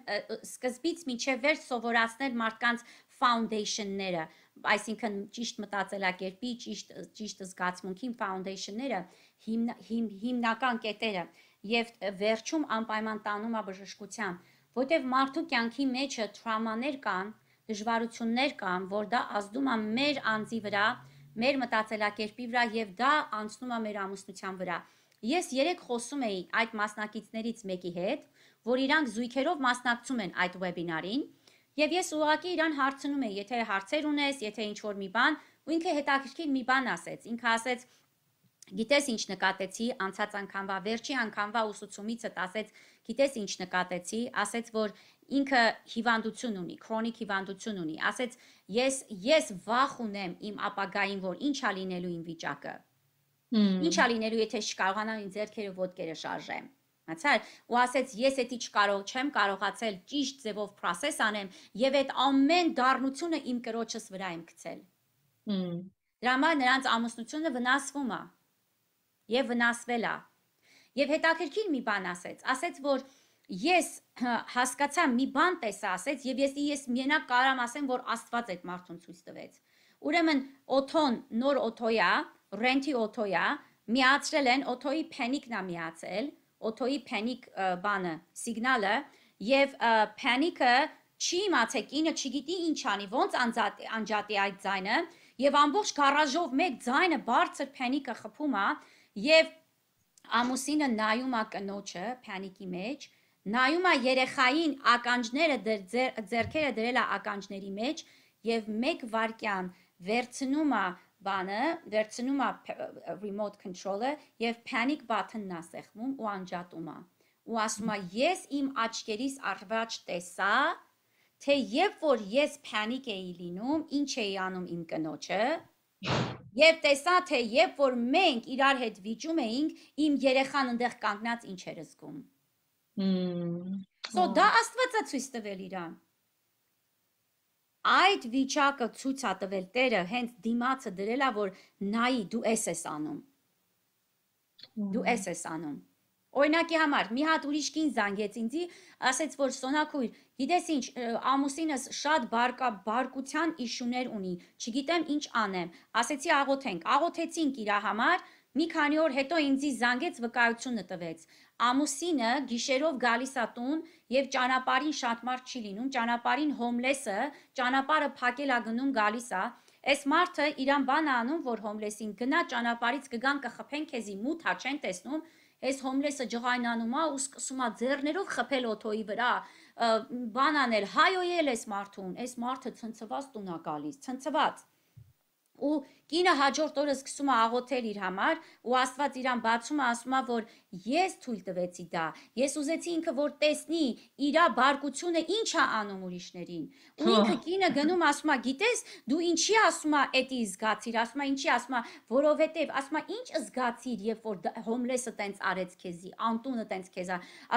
սկզբից մինչև վերջ սովորացնել մարդկանց foundation-ները, այսինքն ճիշտ մտածելակերպի, ճիշտ ճիշտ զգացմունքի foundation-ները, հիմնական կետերը եւ վերջում անպայման տանում է բժշկության, որտեղ մարդու կյանքի մեջը տրավմաներ կան, դժվարություններ կան, որ դա ազդում է մեր անձի վրա, մեր մտածելակերպի վրա եւ դա անցնում է մեր ամուսնության վրա։ Ես երեք խոսում էի այդ մասնակիցներից մեկի հետ, որ իրանք զույգերով մասնակցում են այդ վեբինարին, եւ ես ուղղակի իրան հարցնում էի, եթե հարցեր ունես, եթե ինչ-որ մի բան, ու ինքը հետաքրքիր մի բան ասեց։ Ինքը ասեց. «Գիտես ինչ նկատեցի, անցած անգամվա վերջի անգամվա ուսուցումից ասեց, գիտես ինչ նկատեցի», ասեց, որ ինքը հիվանդություն ունի, քրոնիկ հիվանդություն ունի, ասեց, ես ես վախ ունեմ իմ ապագային, որ ինչ է լինելու իմ վիճակը։ Ինչ է լինելու, եթե չկարողանամ իմ ձեռքերը ոտքերը շարժեմ։ Հացար, ու ասեց, ես էդի չկարող չեմ կարողացել ճիշտ ձևով process անեմ եւ այդ ամեն դառնությունը իմ կրոջս վրա եմ գցել։ Դրա համար նրանց ամուսնությունը վնասվում է եւ վնասվել է։ Եվ հետաքրքիր մի բան ասեց, ասեց, որ ես հասկացա մի բան տեսա, ասեց, եւ ես ես միենակ կարամ ասեմ, որ Աստված այդ մարդուն ցույց տվեց։ Ուրեմն օթոն նոր օթոյա, ռենտի օթոյա, միացրել են օթոյի փենիկն է միացել, օթոյի փենիկ բանը, սիգնալը, եւ փենիկը չի իմացել, կինը չգիտի ինչ անի, ոնց անջատի այդ ձայնը, եւ ամբողջ գարաժով մեկ ձայնը բարձր փենիկը խփում է, եւ ամուսինը նայում է կնոջը փենիկի մեջ, նայում է երեխային ականջները ձեռքերը դրել է ականջների մեջ եւ մեկ վայրկյան վերցնում է բանը, վերցնում է remote control-ը եւ panic button-ն է սեղմում ու անջատում է։ Ու ասում է, ես իմ աչքերիս առաջ տեսա, թե երբ որ ես panic էի լինում, ինչ էի անում իմ կնոջը, եւ տեսա, թե երբ որ մենք իրար հետ վիճում էինք, իմ երեխան այնտեղ կանգնած ինչ էր զգում։ So դա Աստվածը ցույց տվել իրան։ Այդ վիճակը ցույց է տվել Տերը, հենց դիմացը դրել է, որ նայի դու էս ես անում։ Դու էս ես անում։ Օրինակի համար մի հատ ուրիշ կին զանգեց ինձի, ասեց, որ Սոնակույր, գիտես ինչ, ամուսինս շատ բարկա բարկության իշուներ ունի, չգիտեմ ինչ անեմ։ Ասեցի աղոթենք, աղոթեցինք իր համար, մի քանի օր հետո ինձի զանգեց վկայությունը տվեց։ Ամուսինը գիշերով գալիս է տուն եւ ճանապարհին շատ մարդ չի լինում, ճանապարհին հոմլեսը, ճանապարհը փակել է գնում գալիս է։ Այս մարդը իրան բան անում, որ հոմլեսին գնա ճանապարհից կգան կխփեն քեզի մութ հա չեն տեսնում։ Այս հոմլեսը ջղայնանում է ու սկսում է ձեռներով խփել օթոյի վրա, բան անել, հայոյել այս մարդուն, այս մարդը ցնցված տուն է գալիս, ցնցված։ Ու Կինը հաջորդ օրը սկսում է աղոթել իր համար ու Աստված իրան բացում է, ասում է, որ ես թույլ տվեցի դա, ես ուզեցի ինքը որ տեսնի իր բարկությունը ինչ է անում ուրիշներին։ Ու ինքը կինը գնում ասում է, գիտես, դու ինչի ասում է էդի զգացիր, ասում է ինչի, ասում է, որովհետև ասում է ինչ զգացիր, երբ որ հոմլեսը տենց արեց քեզի, անտունը տենց քեզ,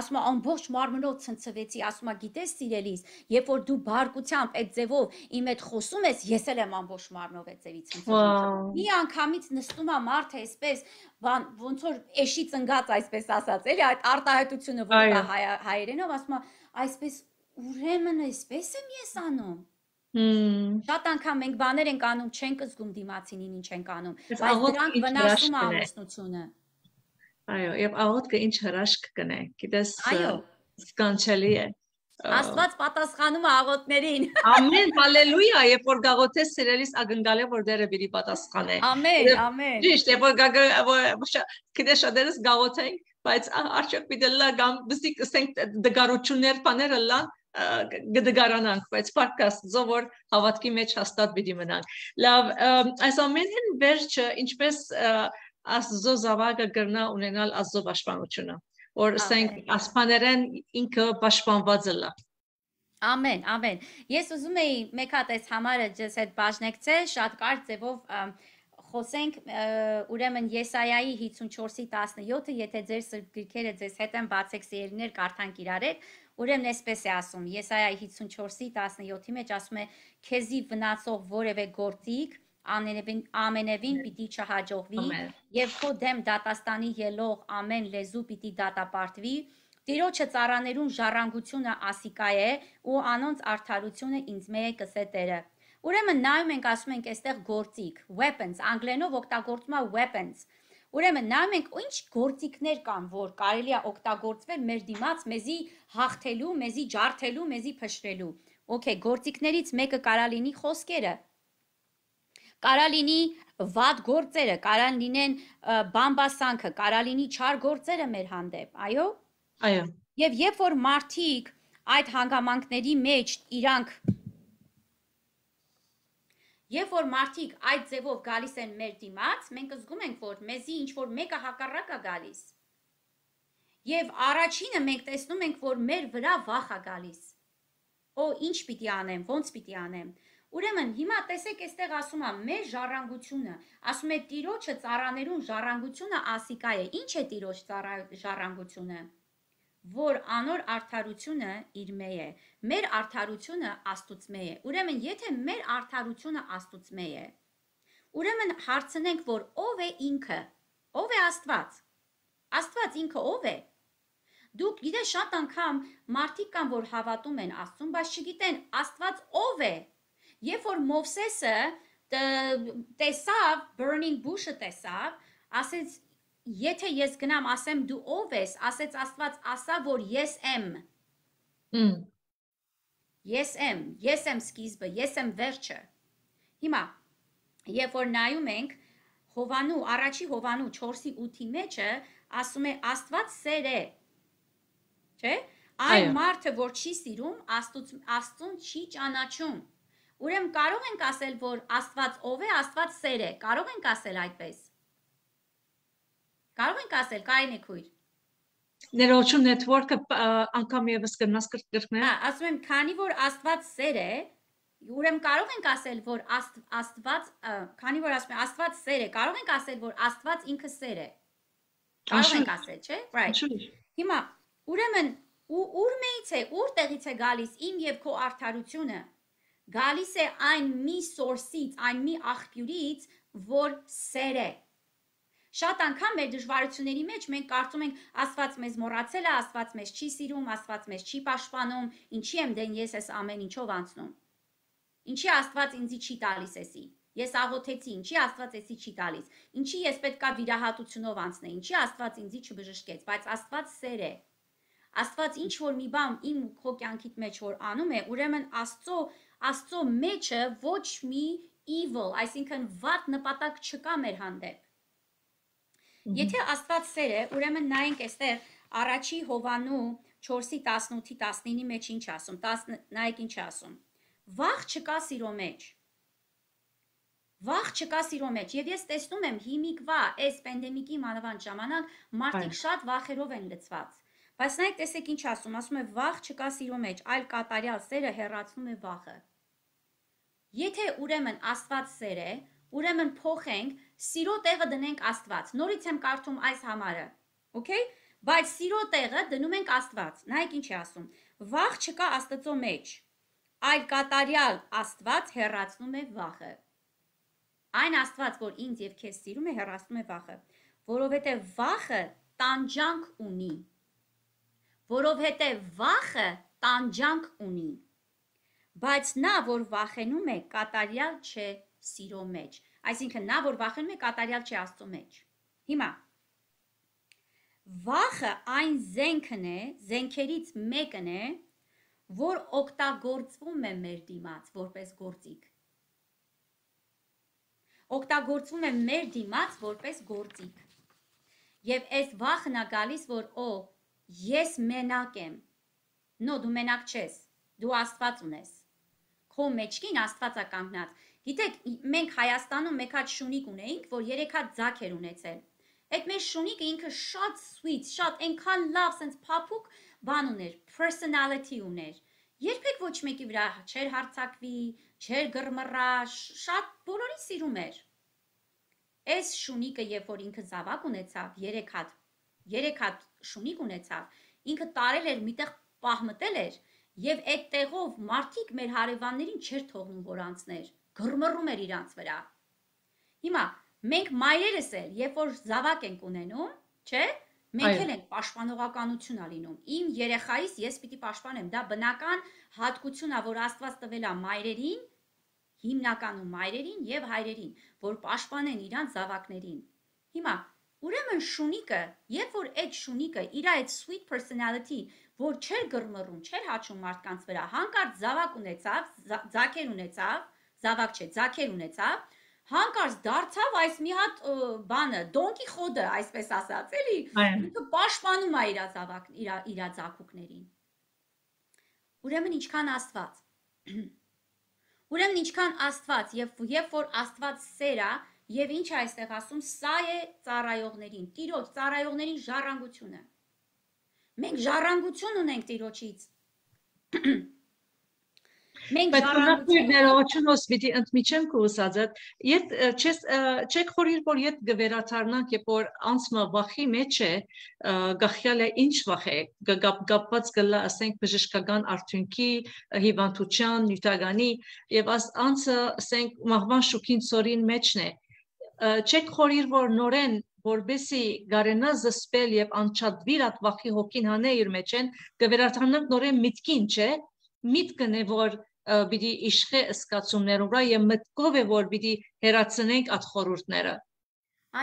ասում է ամբողջ մարմնով ցնցվեցի, ասում է գիտես սիրելիս, երբ որ դու բարկությամբ այդ ձևով իմ հետ խոսում ես, ես էլ եմ ամբողջ մարմնով այդ ձևի ցնցվում։ Մի անգամից նստում է մարդը այսպես, ոնց որ էշի ծնգած այսպես ասած, էլի այդ արտահայտությունը որ կա հայերենով, ասում է, այսպես ուրեմն այսպես եմ ես անում։ Շատ անգամ մենք բաներ ենք անում, չենք զգում դիմացինին ինչ ենք անում, բայց դրանք վնասում է ամուսնությունը։ Այո, եւ աղոթքը ինչ հրաշք կնե, գիտես, սկանչելի է։ Աստված պատասխանում է աղոթներին։ Ամեն, հալելույա, երբ որ գաղոթես սիրելիս ակնկալ է որ Տերը պիտի պատասխանե։ Ամեն, ամեն։ Ճիշտ, երբ որ գիտես շատերս գաղոթենք, բայց արդյոք պիտի լա կամ բսիկ ասենք դգարություններ բաները լան գդգարանանք, բայց պարկաստո որ հավատքի մեջ հաստատ պիտի մնանք։ Լավ, այս ամենին վերջը ինչպես Աստծո զավակը կրնա ունենալ Աստծո պաշտպանությունը, որ ասենք ասպաներեն ինքը պաշտպանված է լա։ Ամեն, ամեն։ Ես ուզում էի մեկ հատ այս համարը ջես հետ բաժնեկցել, շատ կարճ ձևով խոսենք, ուրեմն Եսայայի հիսունչորսի տասնյոթը, եթե ձեր սրբ գրքերը ձեզ հետ են բացեք սիրելիներ, կարդանք իրար հետ, ուրեմն այսպես է ասում, Եսայայի հիսունչորսի տասնյոթի մեջ ասում է, քեզի վնասող որևէ գործիք ամենևին պիտի չհաջողվի եւ քո դեմ դատաստանի ելող ամեն լեզու պիտի դատապարտվի, Տիրոջը ծառաներուն ժառանգությունը ասիկա է ու անոնց արդարությունը ինձ մե է կսե Տերը։ Ուրեմն նայում ենք, ասում ենք այստեղ գործիք, weapons, անգլերենով օգտագործում է weapons։ Ուրեմն նայում ենք ինչ գործիքներ կան, որ կարելի է օգտագործվել մեր դիմաց մեզի հաղթելու, մեզի ջարդելու, մեզի փշրելու։ Okay, գործիքներից մեկը կարա լինի խոսքերը։ Կարա լինի վատ գործերը, կարա լինեն բամբասանքը, կարա լինի չար գործերը մեր հանդեպ, այո։ Այո։ Եվ երբ որ մարդիկ այդ հանգամանքների մեջ իրանք Երբ որ մարդիկ այդ ձևով գալիս են մեր դիմաց, մենք զգում ենք, որ մեզի ինչ որ մեկը հակառակ է գալիս։ Եվ առաջինը մենք տեսնում ենք, որ մեր վրա վախ է գալիս։ Օ, ինչ պիտի անեմ, ոնց պիտի անեմ։ Ուրեմն հիմա տեսեք այստեղ ասում է մեր ժառանգությունը, ասում է Տիրոջը ծառաներուն ժառանգությունը ասիկա է։ Ինչ է Տիրոջ ժառանգությունը, որ անոր արդարությունը իր մե է, մեր արդարությունը Աստուծմե է։ Ուրեմն եթե մեր արդարությունը Աստուծմե է, ուրեմն հարցնենք, որ ով է ինքը, ով է Աստված։ Աստված ինքը ով է։ Դուք գիտեք շատ անգամ մարդիկ կան, որ հավատում են Աստծուն, բայց չգիտեն Աստված ով է։ Երբ որ Մովսեսը տեսավ, burning bush-ը տեսավ, ասեց, եթե ես գնամ ասեմ դու ով ես, ասեց Աստված ասա, որ ես եմ։ Ես եմ, ես եմ սկիզբը, ես եմ վերջը։ Հիմա, երբ որ նայում ենք Հովանու, առաջի Հովանու չորսի ութի մեջը, ասում է Աստված սեր է։ Չէ՞։ Այն մարդը, որ չի սիրում, Աստծուն չի ճանաչում։ Ուրեմն կարող ենք ասել, որ Աստված ով է, Աստված սեր է։ Կարող ենք ասել այդպես։ Կարող ենք ասել, Կարինե քույր։ Ներողություն network-ը անգամ եւս կնաս կրկնել։ Հա, ասում եմ, քանի որ Աստված սեր է, ուրեմն կարող ենք ասել, որ Աստված, քանի որ ասում եմ Աստված սեր է, կարող ենք ասել, որ Աստված ինքը սեր է։ Կարող ենք ասել, չէ՞։ Right։ Հիմա, ուրեմն ուր մեից է, ուր տեղից է գալիս իմ եւ քո արդարությունը։ Գալիս է այն մի source-ից, այն մի աղբյուրից, որ սեր է։ Շատ անգամ մեր դժվարությունների մեջ մենք կարծում ենք Աստված մեզ մոռացել է, Աստված մեզ չի սիրում, Աստված մեզ չի պաշտպանում, ինչի եմ դեն ես այս ամեն ինչով անցնում։ Ինչի Աստված ինձի չի տալիս էսի։ Ես աղոթեցի, ինչի Աստված էսի չի տալիս։ Ինչի ես պետքա վիրահատությունով անցնեի, ինչի Աստված ինձի չբժշկեց, բայց Աստված սեր է։ Աստված ինչ որ մի բան իմ քո կյանքիդ մեջ որ անում է, ուրեմն Աստծո Աստծո մեջը ոչ մի evil, այսինքն վատ նպատակ չկա մեր հանդեպ։ Եթե Աստված սեր է, ուրեմն նայենք այստեղ առաջի Հովանու չորսի տասնութի տասնինի մեջ ինչ ասում, նայեք ինչ ասում։ Վախ չկա սիրո մեջ։ Վախ չկա սիրո մեջ, եւ ես տեսնում եմ հիմիկվա այս պանդեմիկի մանավանդ ժամանակ մարդիկ շատ վախերով են լցված։ Բայց նայեք, տեսեք ինչ ասում, ասում է վախ չկա սիրո մեջ, այլ կատարյալ սերը հեռացնում է վախը։ Եթե ուրեմն Աստված սեր է, ուրեմն փոխենք, սիրո տեղը դնենք Աստված։ Նորից եմ կարդում այս համարը։ Okay? Բայց սիրո տեղը դնում ենք Աստված։ Նայեք ինչ է ասում։ Վախ չկա Աստծո մեջ, այլ կատարյալ Աստված հեռացնում է վախը։ Այն Աստված, որ ինձ եւ քեզ սիրում է, հեռացնում է վախը, որովհետեւ վախը տանջանք ունի։ Որովհետեւ վախը տանջանք ունի։ Բայց նա, որ վախենում է, կատարյալ չէ սիրո մեջ։ Այսինքն նա, որ վախենում է, կատարյալ չէ Աստծո մեջ։ Հիմա վախը այն զենքն է, զենքերից մեկն է, որ օգտագործվում է մեր դիմաց որպես գործիք։ Օգտագործվում է մեր դիմաց որպես գործիք։ Եվ այս վախն է գալիս, որ օ, ես մենակ եմ։ Նո, դու մենակ չես, դու Աստված ունես։ Քո մեջքին Աստված է կանգնած։ Գիտեք, մենք Հայաստանում մեկ հատ շունիկ ունեինք, որ երեք հատ ձակ էր ունեցել։ Այդ մեր շունիկը ինքը շատ sweet, շատ այնքան լավ, sense փափուկ բան ուներ, personality ուներ։ Երբեք ոչ մեկի վրա չէր հարցակվի, չէր գրմռա, շատ բոլորին սիրում էր։ Այս շունիկը, երբ որ ինքը զավակ ունեցավ, երեք հատ, երեք հատ շունիկ ունեցավ, ինքը տարել էր, միտեղ պահմտել էր, եւ այդ տեղով մարդիկ մեր հարևաններին չէր թողնում, որ անցներ, գրմռում էր իրանց վրա։ Հիմա մենք մայրերս էլ, երբ որ զավակ ենք ունենում, չէ՞, մենք էլ ենք պաշտպանողականություն ալինում։ Իմ երեխայիս ես պիտի պաշտպանեմ, դա բնական հատկություն է, որ Աստված տվել է մայրերին, հիմնականում մայրերին եւ հայրերին, որ պաշտպանեն իրանց զավակներին։ Հիմա ուրեմն շունիկը, երբ որ այդ շունիկը իր այդ sweet personality, որ չէր գրմռում, չէր հաչում մարդկանց վրա, հանկարծ զավակ ունեցավ, ձակեր ունեցավ, զավակ չէ, ձակեր ունեցավ, հանկարծ դարձավ այս մի հատ բանը, դոնկի խոդը, այսպես ասած, էլի, ինքը պաշտպանում է իր զավակ, իր ձակուկներին։ Ուրեմն ինչքան Աստված։ Ուրեմն ինչքան Աստված, երբ որ Աստված սեր է, եւ ինչ է այստեղ ասում, սա է ծառայողներին, Տիրոջ ծառայողներին ժառանգությունը։ Մենք ժառանգություն ունենք Տիրոջից։ Մենք ժառանգություն ներողություն պիտի ընդմիջեմ քո ասածը, իդ չեք խորիր, որ իդ գվերաթարնանք, երբ որ անցմը վախի մեջ է, գախյալ է ինչ վախ է, գապված գլա, ասենք բժշկական արդյունքի, հիվանդության, նյութականի, եւ անցը, ասենք մահվան շուքին ծորին մեջն է, չեք խորիր, որ նորեն որբեսի գարենա զսպել եւ անչադվիր այդ վախի հոգին հանե իր մեջ են, գվերաթարնանք նորեն միտքին, չէ, միտքն է, որ պիտի իշխե ըսկացումներով վրա եւ մտքով է, որ պիտի հերացնենք այդ խորհուրդները։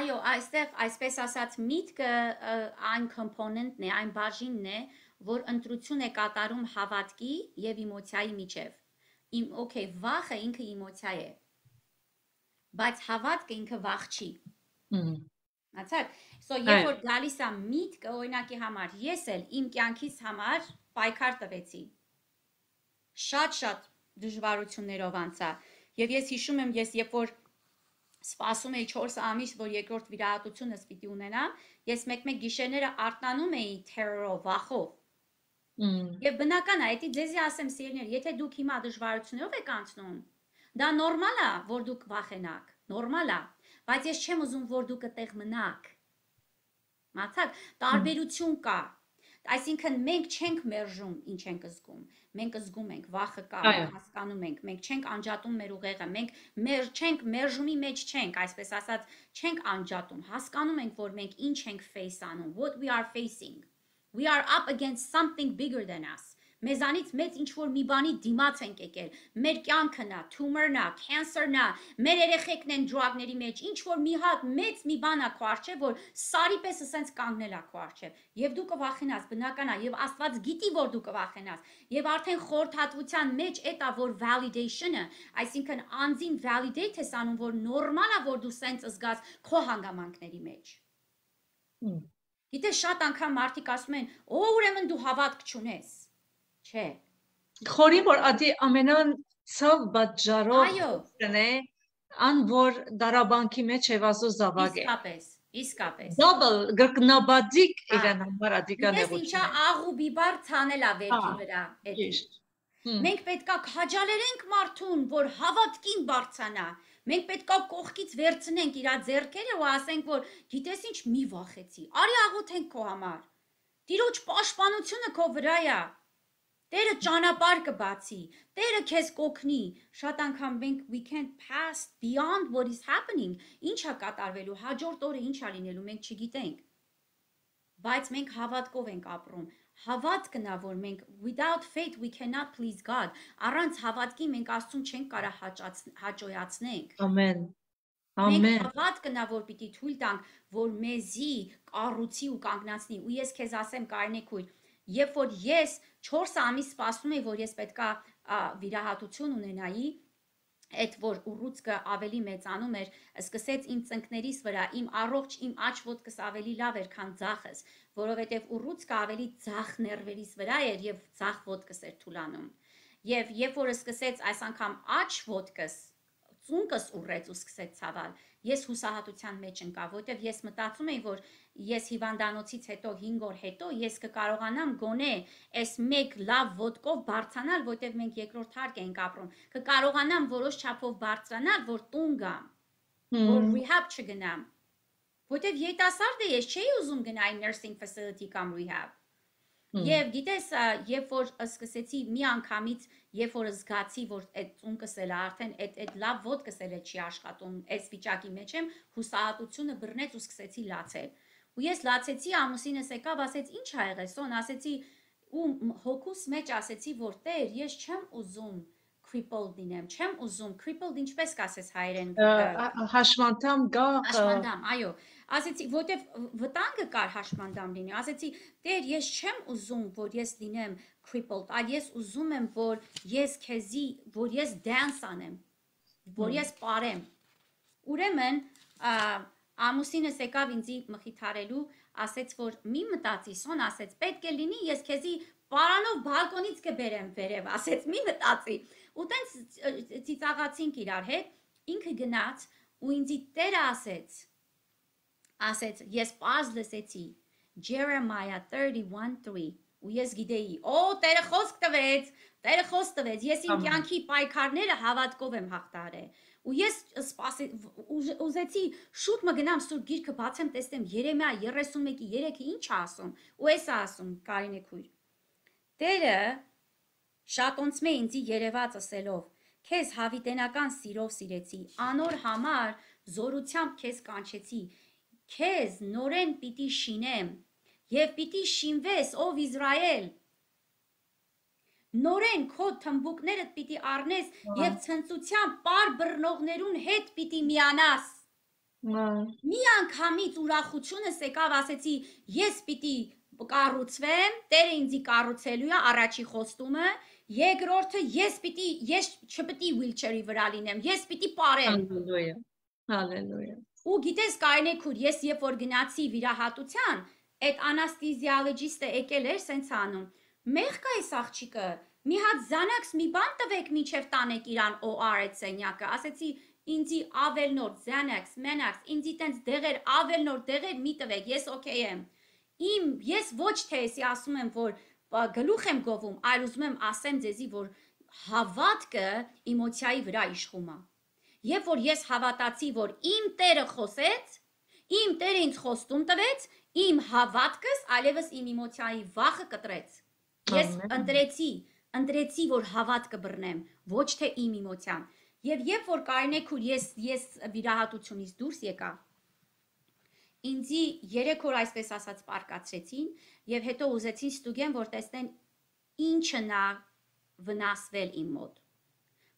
Այո, այստեղ այսպես ասած միտքը այն կոմպոնենտն է, այն բաժինն է, որ ընտրություն է կատարում հավատքի եւ էմոցիայի միջեւ։ Իմ օքեյ, վախը ինքը էմոցիա է, բայց հավատքը ինքը վախ չի։ Հացար, so երբ որ գալիս է միտքը, օրինակի համար, ես էլ իմ կյանքիս համար պայքար տվեցի։ Շատ-շատ դժվարություններով անցա, եւ ես հիշում եմ, ես երբ որ սպասում էի չորս ամիս, որ երկրորդ վիրահատությունս պիտի ունենամ, ես մեկ-մեկ գիշերները արթնանում էի terror-ով, վախով։ Եվ բնական է, դա ձեզի ասեմ սիրելիներ, եթե դուք հիմա դժվարություններով եք անցնում, դա նորմալ է, որ դուք վախենաք, նորմալ է, բայց ես չեմ ուզում, որ դուք այդտեղ մնաք։ Մացակ, տարբերություն կա։ Այսինքն մենք չենք մերժում, ինչ ենք զգում, մենք զգում ենք, վախը կա, հասկանում ենք, մենք չենք անջատում մեր ուղեղը, մենք մեր չենք մերժումի մեջ չենք, այսպես ասած, չենք անջատում, հասկանում ենք, որ մենք ինչ ենք face անում, what we are facing. We are up against something bigger than us. Մեզանից մեծ ինչ-որ մի բանի դիմաց ենք եկել, մեր կյանքն է, թումորն է, cancer-ն է, մեր երեխեքն են drug-ների մեջ, ինչ-որ մի հատ մեծ մի բան է քո առջև, որ սարի պես ասենց կանգնել է քո առջև, եւ դու կվախենաս, բնական է, եւ Աստված գիտի, որ դու կվախենաս, եւ արդեն խորհրդատվության մեջ էդ է, որ validation-ը, այսինքն անձին validate ես անում, որ նորմալ է, որ դու սենց զգաս քո հանգամանքների մեջ։ Գիտես, շատ անգամ մարդիկ ասում են, «Օ, ուրեմն դու հավատք չունես»։ Չէ։ Խորի որ ադի ամենան ցավ բաժարով կնե ան որ դարաբանքի մեջ Եվասու զավակ է։ Իսկապես, իսկապես։ Double գրկնաբադիկ Հա։ իրեն համար ադիկա Գիտես ինչա նեղություն է։ աղ ու բիբար ցանելա վերքի Հա, վրա, էդի։ ճիշտ։ Հմ, Մենք պետքա քաջալերենք մարդուն, որ հավատքին բարձանա։ Մենք պետքա կողքից վերցնենք իր ձեռքերը ու ասենք, որ գիտես ինչ, մի վախեցի։ Արի աղոթենք քո համար։ Տիրոջ պաշտպանությունը քո վրա է։ Տերը ճանապարհ կբացի, Տերը քեզ կօգնի։ Շատ անգամ մենք we can't pass beyond what is happening։ Ինչա կատարվելու, հաջորդ օրը ինչա լինելու, մենք չգիտենք։ Բայց մենք հավատքով ենք ապրում։ Հավատքն է, որ մենք without faith we cannot please God։ Առանց հավատքի մենք Աստծուն չենք կարող հաճոյացնենք։ ամեն։ Մենք Ամեն։ հավատքն է, որ պիտի թույլ տանք, որ մեզի կառուցի ու կանգնացնի։ Ու ես քեզ ասեմ, Կարինե քույր, երբ որ ես չորս ամիս սպասում էի, որ ես պետքա վիրահատություն ունենայի, այդ որ ուռուցքը ավելի մեծանում էր, սկսեց իմ ծնկներիս վրա, իմ առողջ, իմ աջ ոտքս ավելի լավ էր, քան ձախս, որովհետև ուռուցքը ավելի ձախ ներվերիս վրա էր եւ ձախ ոտքս էր թուլանում։ Եվ երբ որ սկսեց այս անգամ աջ ոտքս, ծունկս ուռեց ու սկսեց ցավալ, ես հուսահատության մեջ ընկա, որտեվ ես մտածում էի, որ ես հիվանդանոցից հետո հինգ օր հետո ես կկարողանամ գոնե այս մեկ լավ ոտքով բարձրանալ, որտեվ մենք երկրորդ հարկ ենք ապրում, կկարողանամ որոշ չափով բարձրանալ, որ տուն գամ, որ rehab չգնամ, որտեվ երիտասարդ եմ, ես չէի ուզում գնալ nursing facility կամ rehab։ Եվ գիտես, երբ որ սկսեցի մի անգամից, երբ որ զգացի, որ այդ ծունկս էլ արդեն այդ այդ լավ ոտքս էլ չի աշխատում, այս վիճակի մեջ եմ, հուսահատությունը բռնեց ու սկսեցի լացել։ Ու ես լացեցի, ամուսինս եկավ, ասեց, ինչ ա եղել, Սոն, ասեցի, ու հոգուս մեջ ասեցի, որ Տեր, ես չեմ ուզում crippled լինեմ, չեմ ուզում crippled ինչպես կասես հայերեն հաշմանդամ գա հաշմանդամ, այո, ասեցի, որտեվ վտանգը կար հաշմանդամ լինի, ասեցի, Տեր, ես չեմ ուզում, որ ես լինեմ crippled, այլ ես ուզում եմ, որ ես քեզի, որ ես dance անեմ, որ ես պարեմ։ Ուրեմն ամուսինս եկավ ինձի մխիթարելու, ասեց, որ մի մտածի, Սոն ասեց, պետք է լինի, ես քեզի պարանով բալկոնից կբերեմ վերև, ասեց, մի մտածի։ Ու տենց ծիծաղացինք իրար հետ, ինքը գնաց ու ինձի Տերը ասեց, ասեց, ես պարզ լսեցի, Jeremiah thirty-one three, ու ես գիտեի, օ, Տերը խոսք տվեց, Տերը խոսք տվեց, ես իմ կյանքի պայքարները հավատքով եմ հաղթարել։ Ու ես ուզեցի շուտ մը գնամ Սուրբ Գիրքը բացեմ, տեսնեմ Երեմիա thirty-one three-ը ինչ է ասում, ու էս է ասում, Կարինե քույր։ Տերը շատոնցմե ինձի երևաց ասելով, քեզ հավիտենական սիրով սիրեցի, անոր համար զորությամբ քեզ կանչեցի, քեզ նորեն պիտի շինեմ, եւ պիտի շինվես, ով Իսրայել, նորեն քո թմբուկներդ պիտի առնես եւ ցնծությամբ պար բռնողներուն հետ պիտի միանաս։ Մի անգամից ուրախությունս եկավ, ասեցի, ես պիտի կառուցվեմ, Տերը ինձի կառուցելու է առաջի խոստումը, երկրորդը ես պիտի ես չպիտի wheelchair-ի վրա լինեմ, ես պիտի պարեմ։ Հալելույա։ Հալելույա։ Ու գիտես Կարինե քույր, ես երբ որ գնացի վիրահատության, այդ անաստեզիոլոգիստը եկել էր սենց անում։ Մեղք է այս աղջիկը, մի հատ Xanax մի բան տվեք մինչև տանեք իրան օ ար այդ սենյակը, ասեցի ինձի ավելնոր Xanax, Menax, ինձի տենց դեղեր, ավելնոր դեղեր մի տվեք, ես օքեյ եմ։ Իմ ես ոչ թե էսի ասում եմ, որ գլուխ եմ գովում, այլ ուզում եմ ասեմ ձեզի, որ հավատքը էմոցիայի վրա իշխում է։ Երբ որ ես հավատացի, որ իմ Տերը խոսեց, իմ Տերը ինձ խոստում տվեց, իմ հավատքս այլևս իմ էմոցիայի վախը կտրեց։ Ես ընտրեցի, ընտրեցի, որ հավատքը բռնեմ, ոչ թե իմ էմոցիան։ Եվ երբ որ Կարինե քույր ես ես վիրահատությունից դուրս եկա, ինձի երեք օր այսպես ասած պարկացրեցին եւ հետո ուզեցին ստուգեն, որ տեսնեն ինչը նա վնասվել իմ մոտ։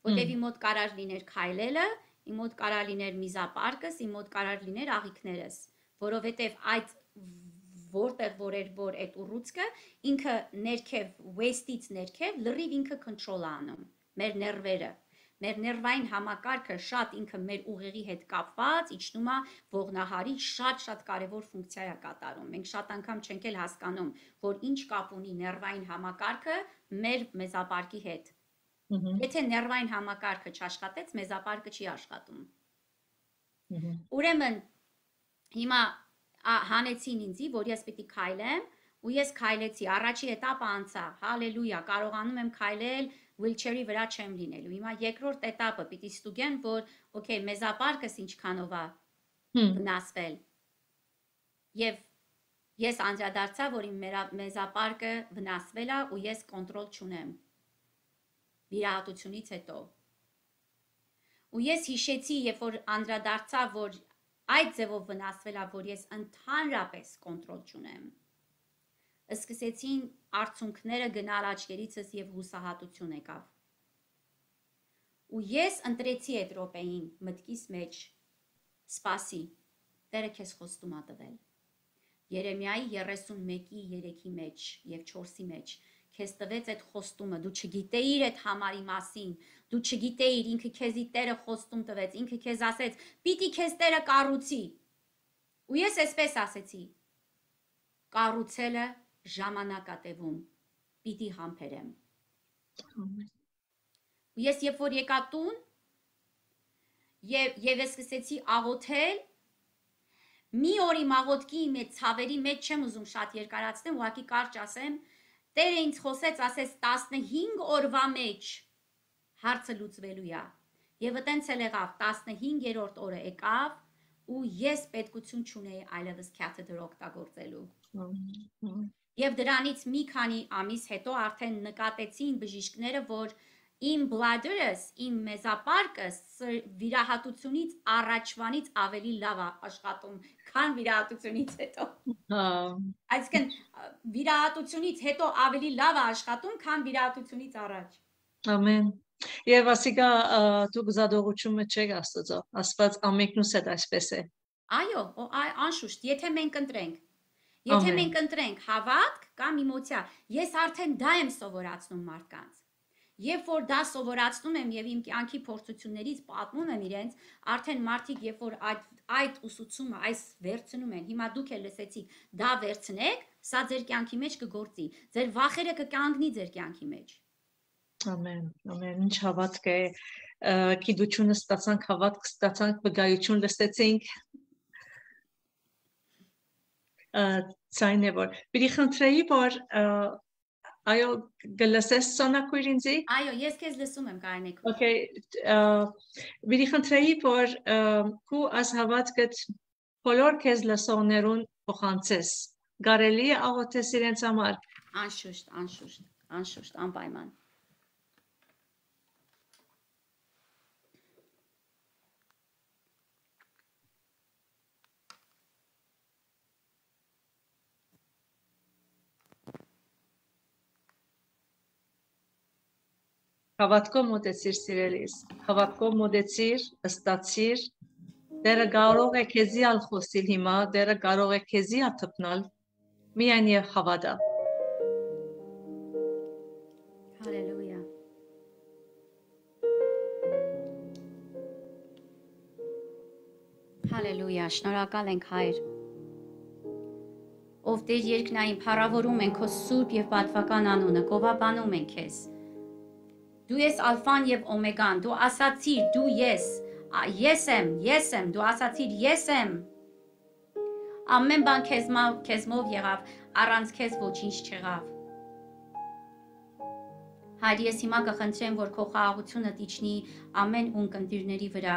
Որտեւ իմ մոտ կարար լիներ քայլելը, իմ մոտ կարար լիներ միզապարկս, իմ մոտ կարար լիներ աղիքներս, որովհետեւ այդ որտեղ որ էր որ այդ ուռուցքը ինքը ներքև waist-ից ներքև լրիվ ինքը control անում մեր ներվերը, մեր ներվային համակարգը շատ ինքը մեր ուղեղի հետ կապված, իջնում է ողնահարի շատ-շատ կարևոր ֆունկցիա է կատարում։ Մենք շատ անգամ չենք էլ հասկանում, որ ինչ կապ ունի ներվային համակարգը մեր մեզապարկի հետ։ Եթե ներվային համակարգը չաշխատեց, մեզապարկը չի աշխատում։ Ուրեմն հիմա հանեցին ինձի, որ ես պիտի քայլեմ, ու ես քայլեցի, առաջի этаպը անցա, հալելույա, կարողանում եմ քայլել, wheelchair-ի վրա չեմ լինելու։ Հիմա երկրորդ этаպը պիտի ստուգեն, որ օքեյ, մեզապարկս ինչքանով է վնասվել։ Եվ ես անդրադարձա, որ իմ մեզապարկը վնասվել է ու ես կոնտրոլ չունեմ վիրահատությունից հետո։ Ու ես հիշեցի, երբ որ անդրադարձա, որ այդ ձևով վնասվել է, որ ես ընդհանրապես կոնտրոլ չունեմ։ Սկսեցին արցունքները գնալ աչքերիցս եւ հուսահատություն եկավ։ Ու ես ընտրեցի այդ րոպեին մտքիս մեջ սպասի, Տերը քեզ խոստում ա տվել։ Երեմիայի երեսունմեկի երեքի մեջ եւ չորսի մեջ քեզ տվեց այդ խոստումը, դու չգիտեիր այդ համարի մասին, դու չգիտեիր, ինքը քեզի Տերը խոստում տվեց, ինքը քեզ ասեց, պիտի քեզ Տերը կառուցի։ Ու ես այսպես ասեցի. կառուցելը ժամանակ ա տևում, պիտի համբերեմ։ Ու ես երբ որ եկա տուն, եւ եւ ես սկսեցի աղոթել, մի օրի աղոթքի մեջ ցավերի մեջ չեմ ուզում շատ երկարացնեմ, ուղղակի կարճ ասեմ, Տերը ինձ խոսեց, ասեց տասնհինգ օրվա մեջ հարցը լուծվելու է։ Եվ այտենց էլ եղավ, տասնհինգերորդ օրը եկավ, ու ես պետքություն չունեի այլևս catheter օգտագործելու։ Եվ դրանից մի քանի ամիս հետո արդեն նկատեցին բժիշկները, որ իմ bladder-ս, իմ մեզապարկս վիրահատությունից առաջվանից ավելի լավ է աշխատում, քան վիրահատությունից հետո։ Այսինքն վիրահատությունից հետո ավելի լավ է աշխատում, քան վիրահատությունից առաջ։ Ամեն։ Եվ ասիկա դու գզադողությունը չեք Աստծո, Աստված ամենքնուս հետ այսպես է։ Այո, անշուշտ, եթե մենք ընտրենք, եթե մենք ընտրենք հավատք կամ էմոցիա, ես արդեն դա եմ սովորացնում մարդկանց։ Երբ որ դա սովորացնում եմ եւ իմ կյանքի փորձություններից պատմում եմ իրենց, արդեն մարդիկ երբ որ այդ այդ ուսուցումը այս վերցնում են, հիմա դուք էլ լսեցիք, դա վերցնեք, սա ձեր կյանքի մեջ կգործի, ձեր վախերը կկանգնի ձեր կյանքի մեջ։ Ամեն, ամեն, ինչ հավատք է, գիտությունը ստացանք, հավատք ստացանք, վկայություն լսեցինք։ Ցայն է որ, պիտի խնդրեի, որ այո, գլսես Սոնակույր ինձի։ Այո, ես քեզ լսում եմ, Կարինեկ։ Okay, պիտի խնդրեի, որ քու այս հավատքդ բոլոր քեզ լսողներուն փոխանցես։ Կարելի է աղոթես իրենց համար։ Անշուշտ, անշուշտ, անշուշտ, անպայման։ Հավատքով մոտեցիր սիրելիս, հավատքով մոտեցիր, ըստացիր, Տերը կարող է քեզի ալ խոսիլ հիմա, Տերը կարող է քեզի աթփնալ, միայն եւ հավատա։ Հալելույա։ Հալելույա, շնորհակալ ենք Հայր։ Ով Տեր երկնային, փառավորում ենք քո սուրբ եւ պատվական անունը, գովաբանում ենք քեզ։ Դու ես ալֆան եւ օմեգան, դու ասացիր, դու ես, ես եմ, ես եմ, դու ասացիր, ես եմ։ Ամեն բան քեզմով, քեզմով եղավ, առանց քեզ ոչինչ չեղավ։ Հայր, ես հիմա կխնդրեմ, որ քո խաղաղությունը իջնի ամեն ունկնդիրների վրա,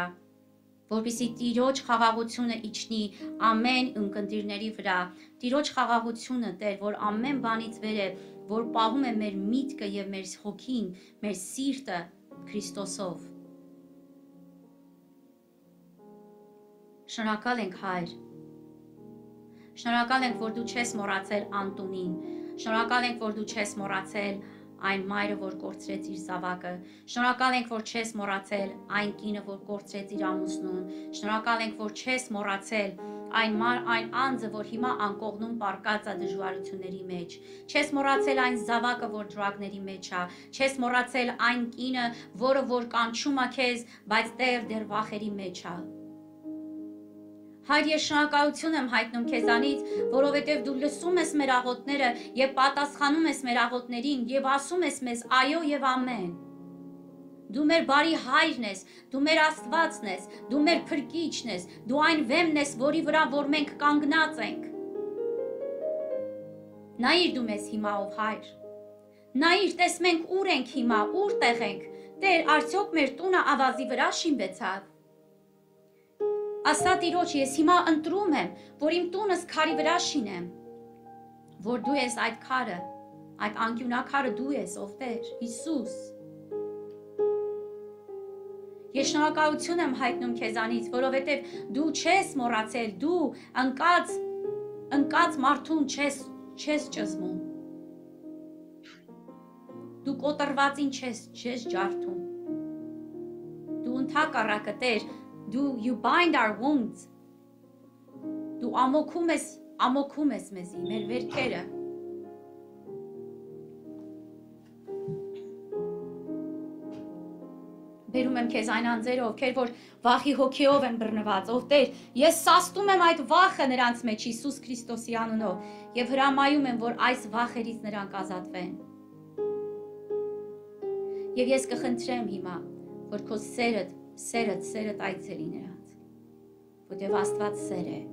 որպեսզի Տիրոջ խաղաղությունը իջնի ամեն ունկնդիրների վրա, Տիրոջ խաղաղությունը, Տեր, որ ամեն բանից վեր է, որ պահում է մեր միտքը եւ մեր հոգին, մեր սիրտը Քրիստոսով։ Շնորհակալ ենք, Հայր։ Շնորհակալ ենք, որ դու չես մոռացել Անտոնին։ Շնորհակալ ենք, որ դու չես մոռացել այն մայրը, որ կորցրեց իր զավակը։ Շնորհակալ ենք, որ չես մոռացել այն կինը, որ կորցրեց իր ամուսնուն։ Շնորհակալ ենք, որ չես մոռացել այն այն անձը, որ հիմա անկողնում պարկած է դժվարությունների մեջ։ Չես մոռացել այն զավակը, որ դրագների մեջ է։ Չես մոռացել այն կինը, որը որ կանչում է քեզ, բայց Տեր դեռ վախերի մեջ է։ Հայր, ես շնորհակալություն եմ հայտնում քեզանից, որովհետև դու լսում ես մեր աղոթները եւ պատասխանում ես մեր աղոթներին եւ ասում ես մեզ այո եւ ամեն։ Դու մեր բարի հայրն ես, դու մեր Աստվածն ես, դու մեր փրկիչն ես, դու այն վեմն ես, որի վրա որ մենք կանգնած ենք։ Նայիր դու մեզ հիմա ով հայր։ Նայիր, տես մենք ուր ենք հիմա, որտեղ ենք։ Տեր, արդյոք մեր տունը ավազի վրա շինվեցավ։ Ասա Տիրոջ, ես հիմա ընտրում եմ, որ իմ տունս քարի վրա շինեմ, որ դու ես այդ քարը, այդ անկյունակարը դու ես, ով Տեր, Հիսուս։ Ես շնորհակալություն եմ հայտնում քեզանից, որովհետև դու չես մոռացել, դու ընկած, ընկած մարդուն չես, չես ճզմում։ Դու կոտրվածին չես, չես ջարդում։ Դու ընդհակառակը Տեր, դու you bind our wounds։ Դու ամոքում ես, ամոքում ես մեզի, մեր վերքերը։ Բերում եմ քեզ այն անձերը, ովքեր որ վախի հոգիով են բռնված, ով Տեր, ես սաստում եմ այդ վախը նրանց մեջ Հիսուս Քրիստոսի անունով եւ հրամայում եմ, որ այս վախերից նրանք ազատվեն։ Եվ ես կխնդրեմ հիմա, որ քո սերդ, սերդ, սերդ այցելի նրանց, որտեղ Աստված սեր է։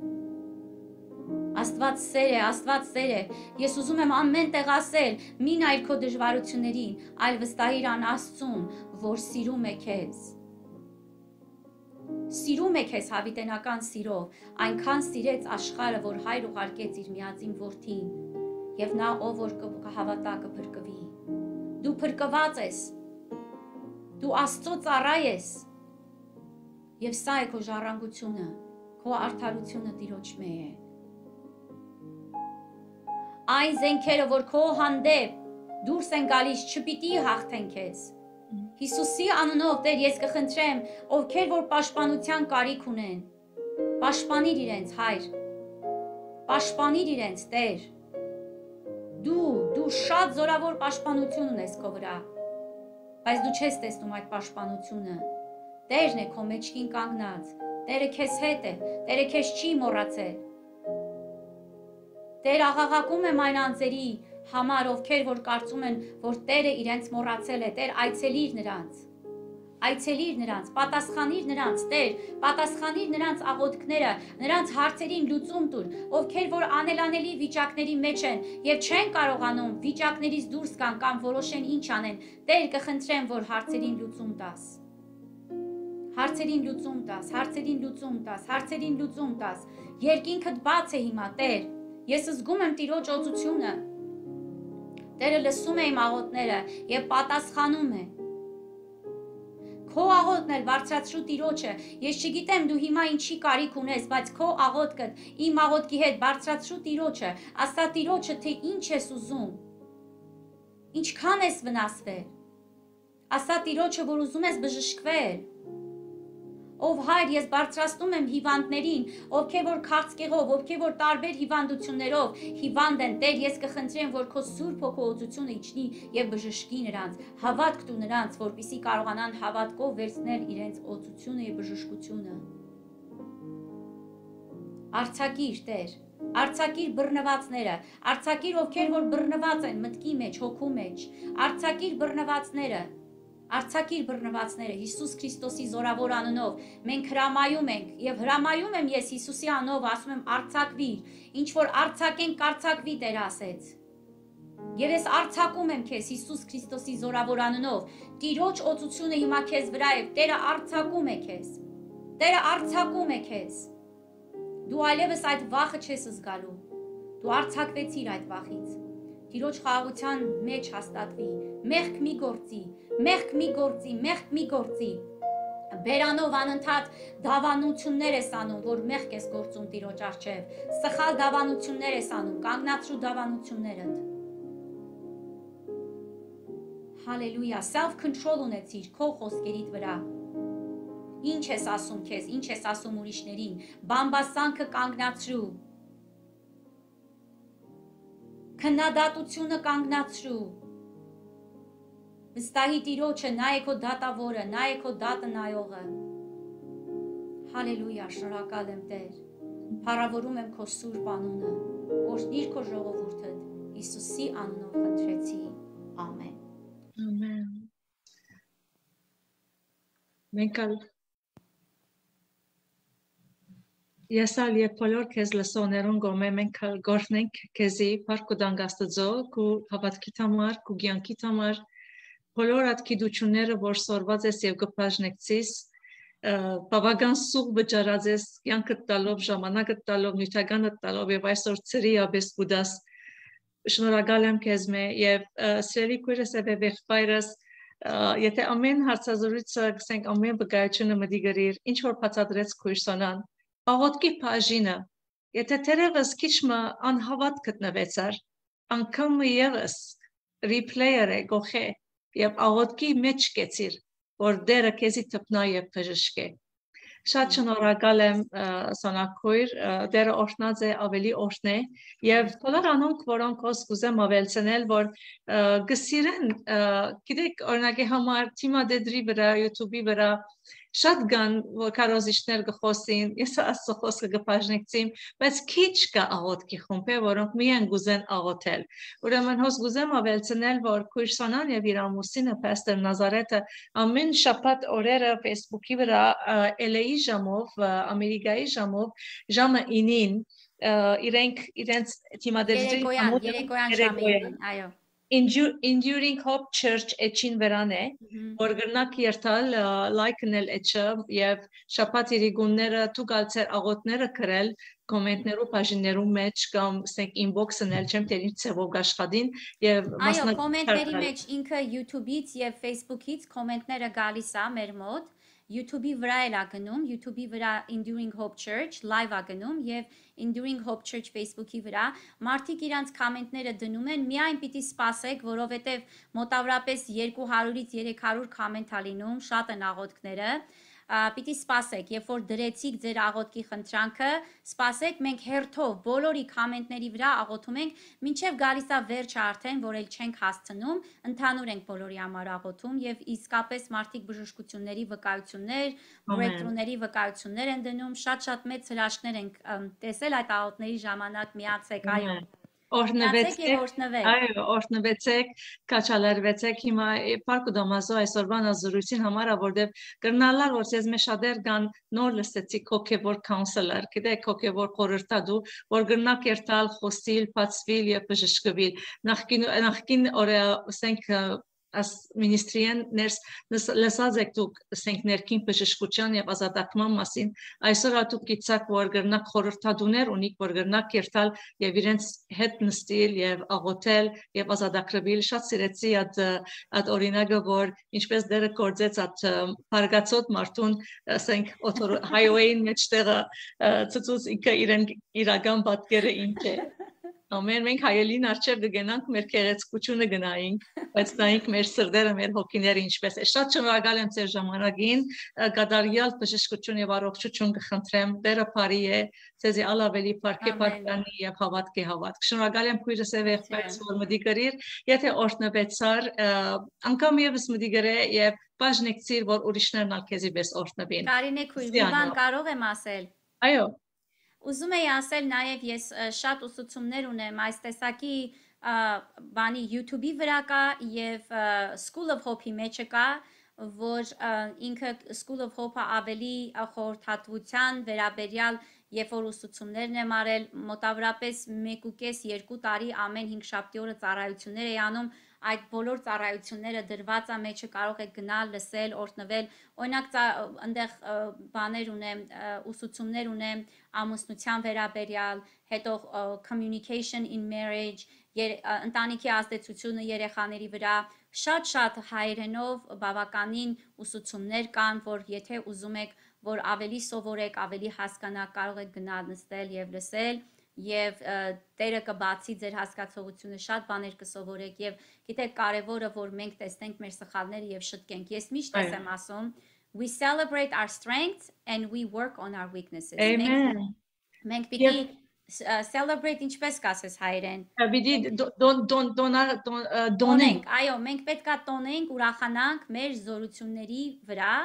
Աստված սեր է, Աստված սեր է։ Ես ուզում եմ ամեն տեղ ասել, մի նայր քո դժվարություններին, այլ վստահիր ան Աստծուն, որ սիրում է քեզ։ Սիրում է քեզ հավիտենական սիրով, այնքան սիրեց աշխարհը, որ Հայր ուղարկեց իր միածին որդին, եւ նա ով որ կհավատա կփրկվի։ Դու փրկված ես։ Դու Աստծո ծառա ես։ Եվ սա է քո ժառանգությունը, քո արդարությունը Տիրոջ մեջ է։ Այն զենքերը, որ քո հանդեպ դուրս են գալիս, չպիտի հաղթեն քեզ։ Հիսուսի անունով Տեր, ես կխնդրեմ, ովքեր որ պաշտպանության կարիք ունեն, պաշտպանիր իրենց, Հայր։ Պաշտպանիր իրենց, Տեր։ Դու, դու շատ զորավոր պաշտպանություն ունես քո վրա, բայց դու չես տեսնում այդ պաշտպանությունը։ Տերն է քո մեջքին կանգնած, Տերը քեզ հետ է, Տերը քեզ չի մոռացել։ Տեր, աղաղակում եմ այն անձերի համար, ովքեր որ կարծում են, որ Տերը իրենց մոռացել է, Տեր, այցելիր նրանց, այցելիր նրանց, պատասխանիր նրանց, Տեր, պատասխանիր նրանց աղոթքները, նրանց հարցերին լուծում տուր, ովքեր որ անելանելի վիճակների մեջ են եւ չեն կարողանում վիճակներից դուրս գան կամ որոշեն ինչ անեն, Տեր, կխնդրեմ, որ հարցերին լուծում տաս։ Հարցերին լուծում տաս, հարցերին լուծում տաս, հարցերին լուծում տաս։ Երկինքդ բաց է հիմա, Տեր։ Ես զգում եմ Տիրոջ օծությունը։ Տերը լսում է իմ աղոթները եւ պատասխանում է։ Քո աղոթն էլ բարձրացրու Տիրոջը։ Ես չգիտեմ դու հիմա ինչի կարիք ունես, բայց քո աղոթքը իմ աղոթքի հետ բարձրացրու Տիրոջը։ Ասա Տիրոջը, թե ինչ ես ուզում։ Ինչքան ես վնասվել։ Ասա Տիրոջը, որ ուզում ես բժշկվել։ Ով Հայր, ես բարձրացնում եմ հիվանդներին, ովքեր որ քաղցկեղով, ովքեր որ տարբեր հիվանդություններով հիվանդ են, Տեր, ես կխնդրեմ, որ քո Սուրբ Հոգուածությունը իջնի եւ բժշկի նրանց, հավատք տու նրանց, որպեսզի կարողանան հավատքով վերցնել իրենց օծությունը եւ բժշկությունը։ Արձակիր, Տեր, արձակիր բռնվածները, արձակիր ովքեր որ բռնված են մտքի մեջ, հոգու մեջ, արձակիր բռնվածները։ Արձակիր բռնվածները Հիսուս Քրիստոսի զորավոր անունով մենք հրամայում ենք եւ հրամայում եմ ես Հիսուսի անունով ասում եմ արձակվիր, ինչ որ արձակեն կարձակվի Տեր ասեց։ Եվ ես արձակում եմ քեզ Հիսուս Քրիստոսի զորավոր անունով, Տիրոջ օծությունը հիմա քեզ վրա է, Տերը արձակում է քեզ։ Տերը արձակում է քեզ։ Դու այլևս այդ վախը չես զգալու։ Դու արձակվեցիր այդ վախից։ Տիրոջ խաղաղության մեջ հաստատվի, մեղք մի գործի, մեղք մի գործի, մեղք մի գործի։ Բերանով անընդհատ դավանություններ ես անում, որ մեղք ես գործում Տիրոջ առջև, սխալ դավանություններ ես անում, կանգնացրու դավանություններդ։ Հալելույա, self-control ունեցիր քո խոսքերիդ վրա։ Ինչ ես ասում քեզ, ինչ ես ասում ուրիշներին, բամբասանքը կանգնացրու։ Քննադատությունը կանգնացրու։ Վստահի Տիրոջը, նա է քո դատավորը, նա է քո դատը նայողը։ Հալելույա, շնորհակալ եմ Տեր։ Փառավորում եմ քո Սուրբ անունը։ Օրհնիր քո ժողովուրդը, Հիսուսի անունով խնդրեցի։ Ամեն։ Ամեն։ Մենք ալ Եսալ եւ բոլոր քեզ լսողներուն գոմե մենք ալ գործնենք քեզի բարք ու դանգաստծո քու հավատքի համար, քու ցանկի համար, բոլոր այդ գիտությունները, որ սորված ես եւ կբաժնեկցիս, բավական սուղ վճարած ես կյանքը տալով, ժամանակը տալով, նյութականը տալով եւ այսօր ծրի աբես գուդաս շնորհակալ եմ քեզ մե եւ սիրելի քույրս եւ եղբայրս եթե ամեն հարցազրույցը գսենք ամեն բգայությունը մտի գրիր ինչ որ բացատրեց քույրսանան աղոտքի բաժինը եթե թերևս քիչ մը անհավատ գտնվեցար անգամ եւս replayer-ը գողե եւ աղոտքի մեջ կեցիր որ դերը քեզի տպնա եւ բժշկե շատ շնորհակալ եմ Սոնակույր դերը օրհնած է ավելի օրհնե եւ բոլոր անոնք որոնք ոս կուզեմ ավելցնել որ գսիրեն գիտեք օրինակի համար թիմադեդրի վրա YouTube-ի վրա շատ կան որ կարոզիչներ գխոսին ես ասո խոսքը գբաժնեկցիմ բայց քիչ կա աղոտքի խումբ որոնք միայն գուզեն աղոթել ուրեմն հոս գուզեմ ավելցնել որ քույրսանան եւ իր ամուսինը Պաստոր Նազարեթը ամեն շաբաթ օրերը Facebook-ի վրա L A-ի ժամով Ամերիկայի ժամով ժամը ինին իրենք իրենց թիմադեդրի երեկոյան ժամին այո Enduring Hope Church էջին վրան է, որ գրնակ երթալ լայքնել էջը եւ շաբաթ իրիգունները թուգալցեր աղոտները գրել կոմենտներու բաժիններու մեջ կամ ասենք inbox-նել չեմ թե ինչ ծավով աշխատին եւ այո կոմենտների մեջ ինքը YouTube-ից եւ Facebook-ից կոմենտները գալիս է մեր մոտ YouTube-ի վրա էլ ա գնում, YouTube-ի վրա Enduring Hope Church live ա գնում եւ Enduring Hope Church Facebook-ի վրա մարդիկ իրանց կոմենտները դնում են, միայն պիտի սպասեք, որովհետեւ մոտավորապես երկու հարյուրից երեք հարյուր կոմենտ ա լինում, շատ են աղոթքները պիտի սպասեք, երբ որ դրեցիք ձեր աղոթքի խնդրանքը, սպասեք, մենք հերթով բոլորի կոմենտների վրա աղոթում ենք, մինչև գալիս է վերջը արդեն, որ էլ չենք հասցնում, ընդհանուր ենք բոլորի համար աղոթում եւ իսկապես մարդիկ բժշկությունների վկայություններ, breakthrough-ների վկայություններ են դնում, շատ-շատ մեծ հրաշքներ ենք տեսել այդ աղոթների ժամանակ միացեք, այո Օրհնվեցեք, այո, օրհնվեցեք, կաչալերվեցեք հիմա Պարկ ու Դամասո այսօրվան ազրույցին համար որտեվ կրնալար որ ես մեզ շատեր կան նոր լսեցի հոգևոր counselor, գիտեք հոգևոր խորհրդատու, որ գրնակ երթալ, խոսիլ, բացվիլ եւ բժշկվել։ Նախկին նախկին օրը ասենք as ministrien ners լսած եք դուք ասենք ներքին բժշկության եւ ազատացման մասին այսօր ատուք գիծակ որ գրնակ խորհրդատուներ ունիք որ գրնակ երթալ եւ իրենց հետ նստել եւ աղոթել եւ ազատագրվել շատ սիրեցի այդ այդ օրինակը որ ինչպես դերը կործեց այդ բարգացոտ մարդուն ասենք highway-ին մեջտեղը ծծուց ինքը իրեն իրական պատկերը ինչ է Ամեն մենք հայելին արչև կգնանք մեր քեղեցկությունը գնայինք, բայց նայինք մեր սրտերը, մեր հոգիները ինչպես է։ Շատ շնորհակալ եմ ձեր ժամանակին, կատարյալ բժշկություն եւ առողջություն կխնդրեմ, Տերը բարի է, ձեզի ալավելի բարքի պատկանի եւ հավատքի հավատք։ Շնորհակալ եմ քույրս եւ եղբայրս, որ մտի գրիր, եթե օրհնվեցար, անգամ եւս մտի գրե եւ բաժնեկցիր, որ ուրիշներն ալ քեզի պես օրհնվին։ Կարինե քույր, մի բան կարող եմ ասել։ Այո Ուզում եի ասել նաև ես շատ ուսուցումներ ունեմ այս տեսակի բանի YouTube-ի վրա կա եւ School of Hope-ի մեջը կա, որ ինքը School of Hope-ը ավելի խորհրդատվության վերաբերյալ երբ որ ուսուցումներն եմ արել մոտավորապես մեկ ու կես երկու տարի ամեն հինգշաբթի օրը ծառայություններ էի անում այդ բոլոր ծառայությունները դրված է մեջը կարող եք գնալ, լսել, օրհնվել, օրինակ այնտեղ բաներ ունեմ, ուսուցումներ ունեմ ամուսնության վերաբերյալ, հետո communication in marriage, ընտանիքի ազդեցությունը երեխաների վրա, շատ-շատ հայերենով բավականին ուսուցումներ կան, որ եթե ուզում եք, որ ավելի սովորեք, ավելի հասկանաք, կարող եք գնալ նստել եւ լսել Եվ Տերը կբացի ձեր հասկացողությունը շատ բաներ կսովորեք եւ գիտեք կարեւորը որ մենք տեսնենք մեր սխալները եւ շտկենք ես միշտ եմ ասում we celebrate our strengths and we work on our weaknesses Amen Մենք պիտի celebrate ինչպես կասես հայերեն Պիտի դոն դոն դոնենք այո մենք պետքա տոնենք ուրախանանք մեր զորությունների վրա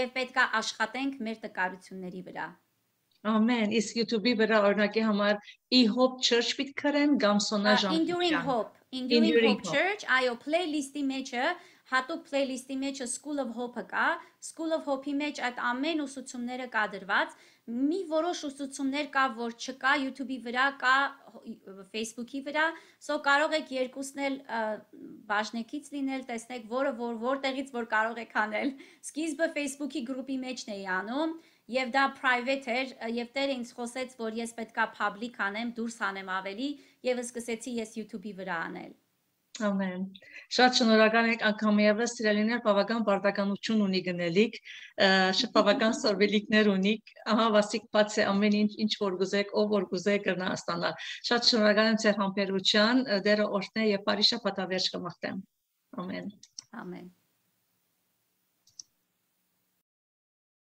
եւ պետքա աշխատենք մեր տկարությունների վրա Amen. Իսկ YouTube-ի վրա օրինակի համար E-Hope Church պիտի կրեն կամ Սոնա Ժան Enduring Hope Enduring Hope Church այո playlist-ի մեջը հատուկ playlist-ի մեջը School of Hope-ը կա, School of Hope-ի մեջ այդ ամեն ուսուցումները կա դրված, մի որոշ ուսուցումներ կա, որ չկա YouTube-ի վրա, կա Facebook-ի վրա, so կարող եք երկուսն էլ բաժնեկից լինել, տեսնեք որը որ որտեղից որ կարող եք անել։ Սկիզբը Facebook-ի գրուպի մեջն էի անում, եւ դա private էր, եւ տերը ինձ խոսեց, որ ես պետքա public անեմ, դուրս անեմ ավելի, եւ սկսեցի ես YouTube-ի վրա անել։ Ամեն։ Շատ շնորհակալ ենք անգամ եւս սիրելիներ, բավական բարդականություն ունի գնելիք, շատ բավական սորվելիքներ ունիք, ահա վասիկ բաց է ամեն ինչ ինչ որ գուզեք, ով որ գուզեք կրնա ստանալ։ Շատ շնորհակալ եմ ձեր համբերության, դերը օրհնե եւ բարի շաբաթ ավերջ կմաղթեմ։ Ամեն։ Ամեն։